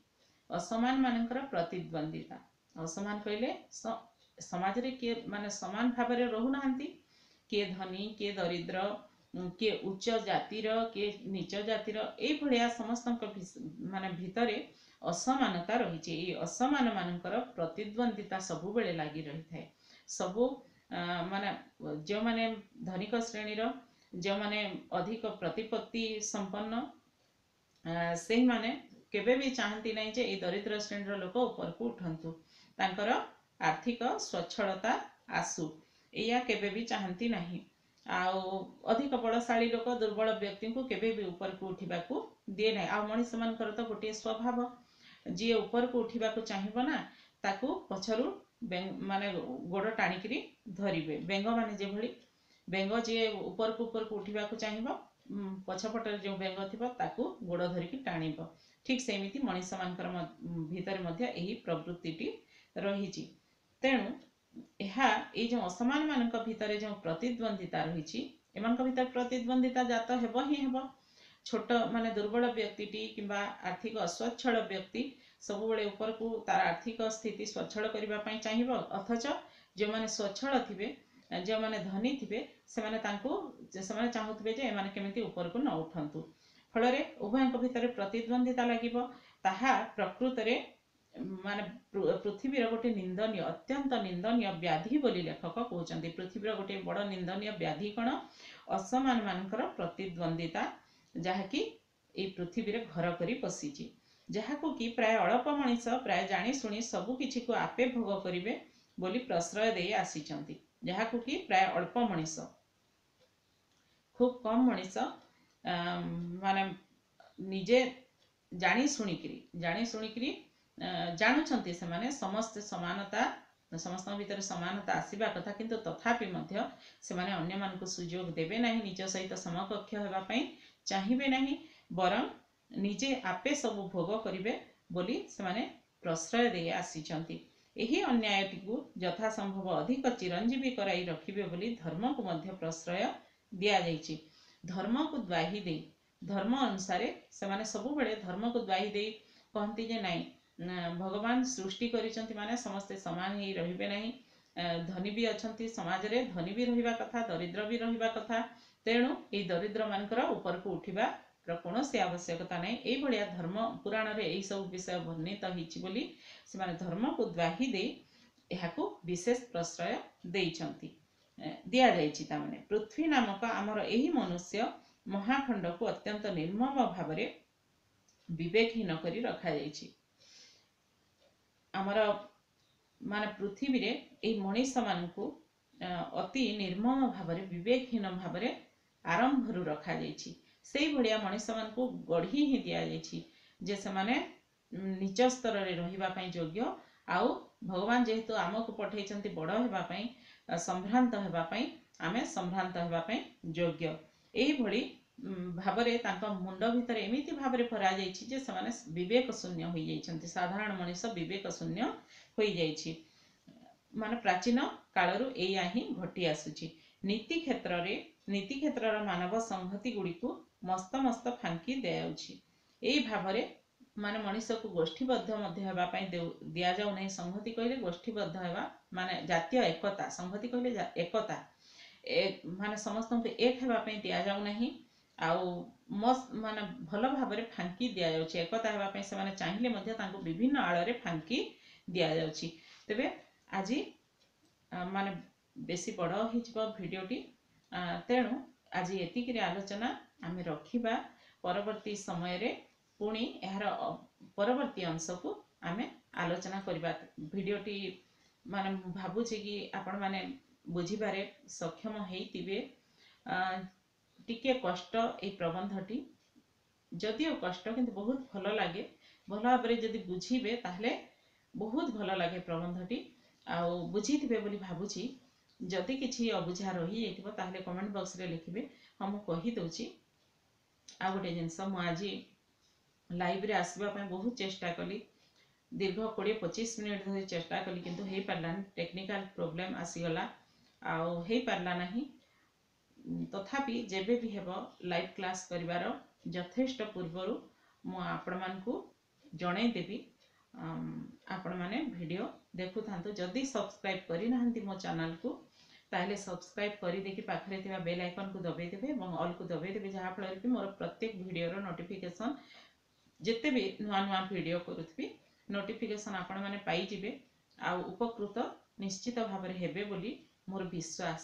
ଅସମାନ ମାନଙ୍କର ପ୍ରତିଦ୍ୱନ୍ଦ୍ୱିତା, ଅସମାନ କହିଲେ ସମାଜରେ କିଏ ମାନେ ସମାନ ଭାବରେ ରହୁନାହାନ୍ତି, କିଏ ଧନୀ, କିଏ ଦରିଦ୍ର, କିଏ ଉଚ୍ଚ ଜାତିର, କିଏ ନୀଚ ଜାତିର, ଏଇଭଳିଆ ସମସ୍ତଙ୍କ ମାନେ ଭିତରେ ଅସମାନତା ରହିଛି। ଏଇ ଅସମାନ ମାନଙ୍କର ପ୍ରତିଦ୍ୱନ୍ଦ୍ୱିତା ସବୁବେଳେ ଲାଗି ରହିଥାଏ। ସବୁ ମାନେ ଯେଉଁମାନେ ଧନିକ ଶ୍ରେଣୀର, ଯେଉଁମାନେ ଅଧିକ ପ୍ରତିପତ୍ତି ସମ୍ପନ୍ନ, ସେଇମାନେ କେବେ ବି ଚାହାନ୍ତି ନାହିଁ ଯେ ଏଇ ଦରିଦ୍ର ଶ୍ରେଣୀର ଲୋକ ଉପରକୁ ଉଠନ୍ତୁ, ତାଙ୍କର ଆର୍ଥିକ ସ୍ୱଚ୍ଛଳତା ଆସୁ, ଏଇଆ କେବେ ବି ଚାହାନ୍ତି ନାହିଁ। ଆଉ ଅଧିକ ବଳଶାଳୀ ଲୋକ ଦୁର୍ବଳ ବ୍ୟକ୍ତିଙ୍କୁ କେବେ ବି ଉପରକୁ ଉଠିବାକୁ ଦିଏ ନାହିଁ। ଆଉ ମଣିଷମାନଙ୍କର ତ ଗୋଟିଏ ସ୍ୱଭାବ, ଯିଏ ଉପରକୁ ଉଠିବାକୁ ଚାହିଁବ ନା ତାକୁ ପଛରୁ ମାନେ ଗୋଡ଼ ଟାଣିକିରି ଧରିବେ। ବେଙ୍ଗମାନେ ଯେଭଳି, ବେଙ୍ଗ ଯିଏ ଉପରକୁ ଉପରକୁ ଉଠିବାକୁ ଚାହିଁବ, ପଛପଟରେ ଯେଉଁ ବେଙ୍ଗ ଥିବ ତାକୁ ଗୋଡ଼ ଧରିକି ଟାଣିବ। ଠିକ୍ ସେମିତି ମଣିଷମାନଙ୍କର ଭିତରେ ମଧ୍ୟ ଏହି ପ୍ରବୃତ୍ତିଟି ରହିଛି। ତେଣୁ ଏହା ଏଇ ଯେଉଁ ଅସମାନମାନଙ୍କ ଭିତରେ ଯେଉଁ ପ୍ରତିଦ୍ୱନ୍ଦ୍ୱିତା ରହିଛି, ଏମାନଙ୍କ ଭିତରେ ପ୍ରତିଦ୍ୱନ୍ଦ୍ୱିତା ଜାତ ହେବ ହିଁ ହେବ। ଛୋଟ ମାନେ ଦୁର୍ବଳ ବ୍ୟକ୍ତିଟି କିମ୍ବା ଆର୍ଥିକ ଅସ୍ୱଚ୍ଛଳ ବ୍ୟକ୍ତି ସବୁବେଳେ ଉପରକୁ ତାର ଆର୍ଥିକ ସ୍ଥିତି ସ୍ୱଚ୍ଛଳ କରିବା ପାଇଁ ଚାହିଁବ, ଅଥଚ ଯେଉଁମାନେ ସ୍ୱଚ୍ଛଳ ଥିବେ, ଯେଉଁମାନେ ଧନୀ ଥିବେ, ସେମାନେ ତାଙ୍କୁ ସେମାନେ ଚାହୁଁଥିବେ ଯେ ଏମାନେ କେମିତି ଉପରକୁ ନ ଉଠନ୍ତୁ। ଫଳରେ ଉଭୟଙ୍କ ଭିତରେ ପ୍ରତିଦ୍ୱନ୍ଦ୍ୱିତା ଲାଗିବ। ତାହା ପ୍ରକୃତରେ ମାନେ ପୃଥିବୀର ଗୋଟେ ନିନ୍ଦନୀୟ, ଅତ୍ୟନ୍ତ ନିନ୍ଦନୀୟ ବ୍ୟାଧି ବୋଲି ଲେଖକ କହୁଛନ୍ତି। ପୃଥିବୀର ଗୋଟିଏ ବଡ଼ ନିନ୍ଦନୀୟ ବ୍ୟାଧି କ'ଣ? ଅସମାନମାନଙ୍କର ପ୍ରତିଦ୍ୱନ୍ଦ୍ୱିତା, ଯାହାକି ଏଇ ପୃଥିବୀରେ ଘର କରି ବସିଛି, ଯାହାକୁ କି ପ୍ରାୟ ଅଳ୍ପ ମଣିଷ ପ୍ରାୟ ଜାଣିଶୁଣି ସବୁ କିଛିକୁ ଆପେ ଭୋଗ କରିବେ ବୋଲି ପ୍ରଶ୍ରୟ ଦେଇ ଆସିଛନ୍ତି। ଯାହାକୁ କି ପ୍ରାୟ ଅଳ୍ପ ମଣିଷ, ଖୁବ୍ କମ୍ ମଣିଷ ମାନେ ନିଜେ ଜାଣି ଶୁଣିକିରି ଜାଣି ଶୁଣିକିରି ଜାଣୁଛନ୍ତି ସେମାନେ ସମସ୍ତେ ସମାନତା, ସମସ୍ତଙ୍କ ଭିତରେ ସମାନତା ଆସିବା କଥା, କିନ୍ତୁ ତଥାପି ମଧ୍ୟ ସେମାନେ ଅନ୍ୟମାନଙ୍କୁ ସୁଯୋଗ ଦେବେ ନାହିଁ, ନିଜ ସହିତ ସମକକ୍ଷ ହେବା ପାଇଁ ଚାହିଁବେ ନାହିଁ, ବରଂ ନିଜେ ଆପେ ସବୁ ଭୋଗ କରିବେ ବୋଲି ସେମାନେ ପ୍ରଶ୍ରୟ ଦେଇ ଆସିଛନ୍ତି। ଏହି ଅନ୍ୟାୟଟିକୁ ଯଥାସମ୍ଭବ ଅଧିକ ଚିରଞ୍ଜୀବୀ କରାଇ ରଖିବେ ବୋଲି ଧର୍ମକୁ ମଧ୍ୟ ପ୍ରଶ୍ରୟ ଦିଆଯାଇଛି। ଧର୍ମକୁ ଦ୍ୱାହି ଦେଇ, ଧର୍ମ ଅନୁସାରେ ସେମାନେ ସବୁବେଳେ ଧର୍ମକୁ ଦ୍ୱାହି ଦେଇ କହନ୍ତି ଯେ ନାଇଁ, ଭଗବାନ ସୃଷ୍ଟି କରିଛନ୍ତି ମାନେ ସମସ୍ତେ ସମାନ ହେଇ ରହିବେ ନାହିଁ, ଧନୀ ବି ଅଛନ୍ତି ସମାଜରେ, ଧନୀ ବି ରହିବା କଥା, ଦରିଦ୍ର ବି ରହିବା କଥା, ତେଣୁ ଏଇ ଦରିଦ୍ରମାନଙ୍କର ଉପରକୁ ଉଠିବାର କୌଣସି ଆବଶ୍ୟକତା ନାହିଁ। ଏଇଭଳିଆ ଧର୍ମ ପୁରାଣରେ ଏଇସବୁ ବିଷୟ ବର୍ଣ୍ଣିତ ହେଇଛି ବୋଲି ସେମାନେ ଧର୍ମକୁ ଦ୍ୱାହି ଦେଇ ଏହାକୁ ବିଶେଷ ପ୍ରଶ୍ରୟ ଦେଇଛନ୍ତି, ଦିଆଯାଇଛି। ତାମାନେ ପୃଥ୍ୱୀ ନାମକ ଆମର ଏହି ମନୁଷ୍ୟ ମହାଖଣ୍ଡକୁ ଅତ୍ୟନ୍ତ ନିର୍ମମ ଭାବରେ ବିବେକହୀନ କରି ରଖାଯାଇଛି। ଆମର ମାନେ ପୃଥିବୀରେ ଏଇ ମଣିଷମାନଙ୍କୁ ଅତି ନିର୍ମମ ଭାବରେ ବିବେକହୀନ ଭାବରେ ଆରମ୍ଭରୁ ରଖାଯାଇଛି। ସେଇଭଳିଆ ମଣିଷମାନଙ୍କୁ ଗଢ଼ି ହିଁ ଦିଆଯାଇଛି ଯେ ସେମାନେ ନିଚ ସ୍ତରରେ ରହିବା ପାଇଁ ଯୋଗ୍ୟ। ଆଉ ଭଗବାନ ଯେହେତୁ ଆମକୁ ପଠେଇଛନ୍ତି ବଡ଼ ହେବା ପାଇଁ, ସମ୍ଭ୍ରାନ୍ତ ହେବା ପାଇଁ, ଆମେ ସମ୍ଭ୍ରାନ୍ତ ହେବା ପାଇଁ ଯୋଗ୍ୟ। ଏଇଭଳି ଭାବରେ ତାଙ୍କ ମୁଣ୍ଡ ଭିତରେ ଏମିତି ଭାବରେ ଭରାଯାଇଛି ଯେ ସେମାନେ ବିବେକ ଶୂନ୍ୟ ହୋଇଯାଇଛନ୍ତି। ସାଧାରଣ ମଣିଷ ବିବେକ ଶୂନ୍ୟ ହୋଇଯାଇଛି, ମାନେ ପ୍ରାଚୀନ କାଳରୁ ଏଇଆ ହିଁ ଘଟି ଆସୁଛି। ନୀତି କ୍ଷେତ୍ରରେ ନୀତି କ୍ଷେତ୍ରର ମାନବ ସଂହତି ଗୁଡ଼ିକୁ ମସ୍ତ ମସ୍ତ ଫାଙ୍କି ଦିଆଯାଉଛି। ଏଇ ଭାବରେ ମାନେ ମଣିଷକୁ ଗୋଷ୍ଠୀବଦ୍ଧ ମଧ୍ୟ ହେବା ପାଇଁ ଦିଆଯାଉ ନାହିଁ। ସଂହତି କହିଲେ ଗୋଷ୍ଠୀବଦ୍ଧ ହେବା, ମାନେ ଜାତୀୟ ଏକତା, ସଂହତି କହିଲେ ଏକତା, ମାନେ ସମସ୍ତଙ୍କୁ ଏକ ହେବା ପାଇଁ ଦିଆଯାଉ ନାହିଁ। ଆଉ ମାନେ ଭଲ ଭାବରେ ଫାଙ୍କି ଦିଆଯାଉଛି। ଏକତା ହେବା ପାଇଁ ସେମାନେ ଚାହିଁଲେ ମଧ୍ୟ ତାଙ୍କୁ ବିଭିନ୍ନ ଆଳରେ ଫାଙ୍କି ଦିଆଯାଉଛି। ତେବେ ଆଜି ମାନେ ବେଶୀ ବଡ଼ ହେଇଯିବ ଭିଡ଼ିଓଟି, ତେଣୁ ଆଜି ଏତିକିରେ ଆଲୋଚନା ଆମେ ରଖିବା। ପରବର୍ତ୍ତୀ ସମୟରେ ପୁଣି ଏହାର ପରବର୍ତ୍ତୀ ଅଂଶକୁ ଆମେ ଆଲୋଚନା କରିବା। ଭିଡ଼ିଓଟି ମାନେ ମୁଁ ଭାବୁଛି କି ଆପଣମାନେ ବୁଝିବାରେ ସକ୍ଷମ ହେଇଥିବେ। ଟିକେ କଷ୍ଟ ଏଇ ପ୍ରବନ୍ଧଟି, ଯଦିଓ କଷ୍ଟ କିନ୍ତୁ ବହୁତ ଭଲ ଲାଗେ। ଭଲ ଭାବରେ ଯଦି ବୁଝିବେ ତାହେଲେ ବହୁତ ଭଲ ଲାଗେ ପ୍ରବନ୍ଧଟି, ଆଉ ବୁଝିଥିବେ ବୋଲି ଭାବୁଛି। ଯଦି କିଛି ଅବୁଝା ରହିଯାଇଥିବ ତାହେଲେ କମେଣ୍ଟ ବକ୍ସରେ ଲେଖିବେ। ହଁ, ମୁଁ କହିଦେଉଛି ଆଉ ଗୋଟେ ଜିନିଷ, ମୁଁ ଆଜି ଲାଇଭ୍ରେ ଆସିବା ପାଇଁ ବହୁତ ଚେଷ୍ଟା କଲି, ଦୀର୍ଘ କୋଡ଼ିଏ ପଚିଶ ମିନିଟ୍ ଧରି ଚେଷ୍ଟା କଲି, କିନ୍ତୁ ହେଇପାରିଲାନି। ଟେକ୍ନିକାଲ ପ୍ରୋବ୍ଲେମ୍ ଆସିଗଲା ଆଉ ହେଇପାରିଲା ନାହିଁ। ତଥାପି ଯେବେ ବି ହେବ ଲାଇଭ୍ କ୍ଲାସ୍ କରିବାର ଯଥେଷ୍ଟ ପୂର୍ବରୁ ମୁଁ ଆପଣମାନଙ୍କୁ ଜଣେଇଦେବି। ଆପଣମାନେ ଭିଡ଼ିଓ ଦେଖୁଥାନ୍ତୁ। ଯଦି ସବସ୍କ୍ରାଇବ୍ କରିନାହାନ୍ତି ମୋ ଚ୍ୟାନେଲକୁ ତାହେଲେ ସବସ୍କ୍ରାଇବ୍ କରିଦେଇକି ପାଖରେ ଥିବା ବେଲ୍ ଆଇକନ୍କୁ ଦବାଇ ଦେବେ ଏବଂ ଅଲ୍କୁ ଦବାଇ ଦେବେ, ଯାହାଫଳରେ କି ମୋର ପ୍ରତ୍ୟେକ ଭିଡ଼ିଓର ନୋଟିଫିକେସନ୍, ଯେତେ ବି ନୂଆ ନୂଆ ଭିଡ଼ିଓ କରୁଥିବି ନୋଟିଫିକେସନ୍ ଆପଣମାନେ ପାଇଯିବେ ଆଉ ଉପକୃତ ନିଶ୍ଚିତ ଭାବରେ ହେବେ ବୋଲି ମୋର ବିଶ୍ୱାସ।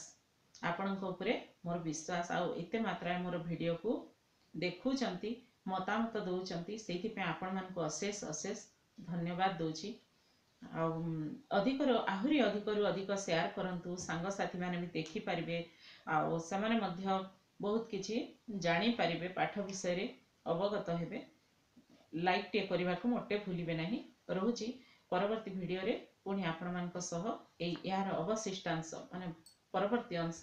ଆପଣଙ୍କ ଉପରେ ମୋର ବିଶ୍ୱାସ। ଆଉ ଏତେ ମାତ୍ରାରେ ମୋର ଭିଡ଼ିଓକୁ ଦେଖୁଛନ୍ତି, ମତାମତ ଦେଉଛନ୍ତି, ସେଇଥିପାଇଁ ଆପଣମାନଙ୍କୁ ଅଶେଷ ଅଶେଷ ଧନ୍ୟବାଦ ଦେଉଛି। ଆଉ ଅଧିକରୁ ଆହୁରି ଅଧିକରୁ ଅଧିକ ସେୟାର କରନ୍ତୁ, ସାଙ୍ଗସାଥିମାନେ ବି ଦେଖିପାରିବେ ଆଉ ସେମାନେ ମଧ୍ୟ ବହୁତ କିଛି ଜାଣିପାରିବେ, ପାଠ ବିଷୟରେ ଅବଗତ ହେବେ। ଲାଇକ୍ଟିଏ କରିବାକୁ ମୋଟେ ଭୁଲିବେ ନାହିଁ। ରହୁଛି, ପରବର୍ତ୍ତୀ ଭିଡ଼ିଓରେ ପୁଣି ଆପଣମାନଙ୍କ ସହ ଏଇ ଏହାର ଅବଶିଷ୍ଟାଂଶ, ମାନେ ପରବର୍ତ୍ତୀ ଅଂଶ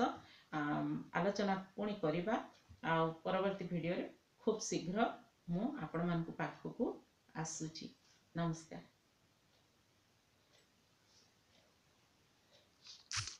ଆଲୋଚନା ପୁଣି କରିବା। ଆଉ ପରବର୍ତ୍ତୀ ଭିଡ଼ିଓରେ ଖୁବ୍ ଶୀଘ୍ର ମୁଁ ଆପଣମାନଙ୍କ ପାଖକୁ ଆସୁଛି। ନମସ୍କାର।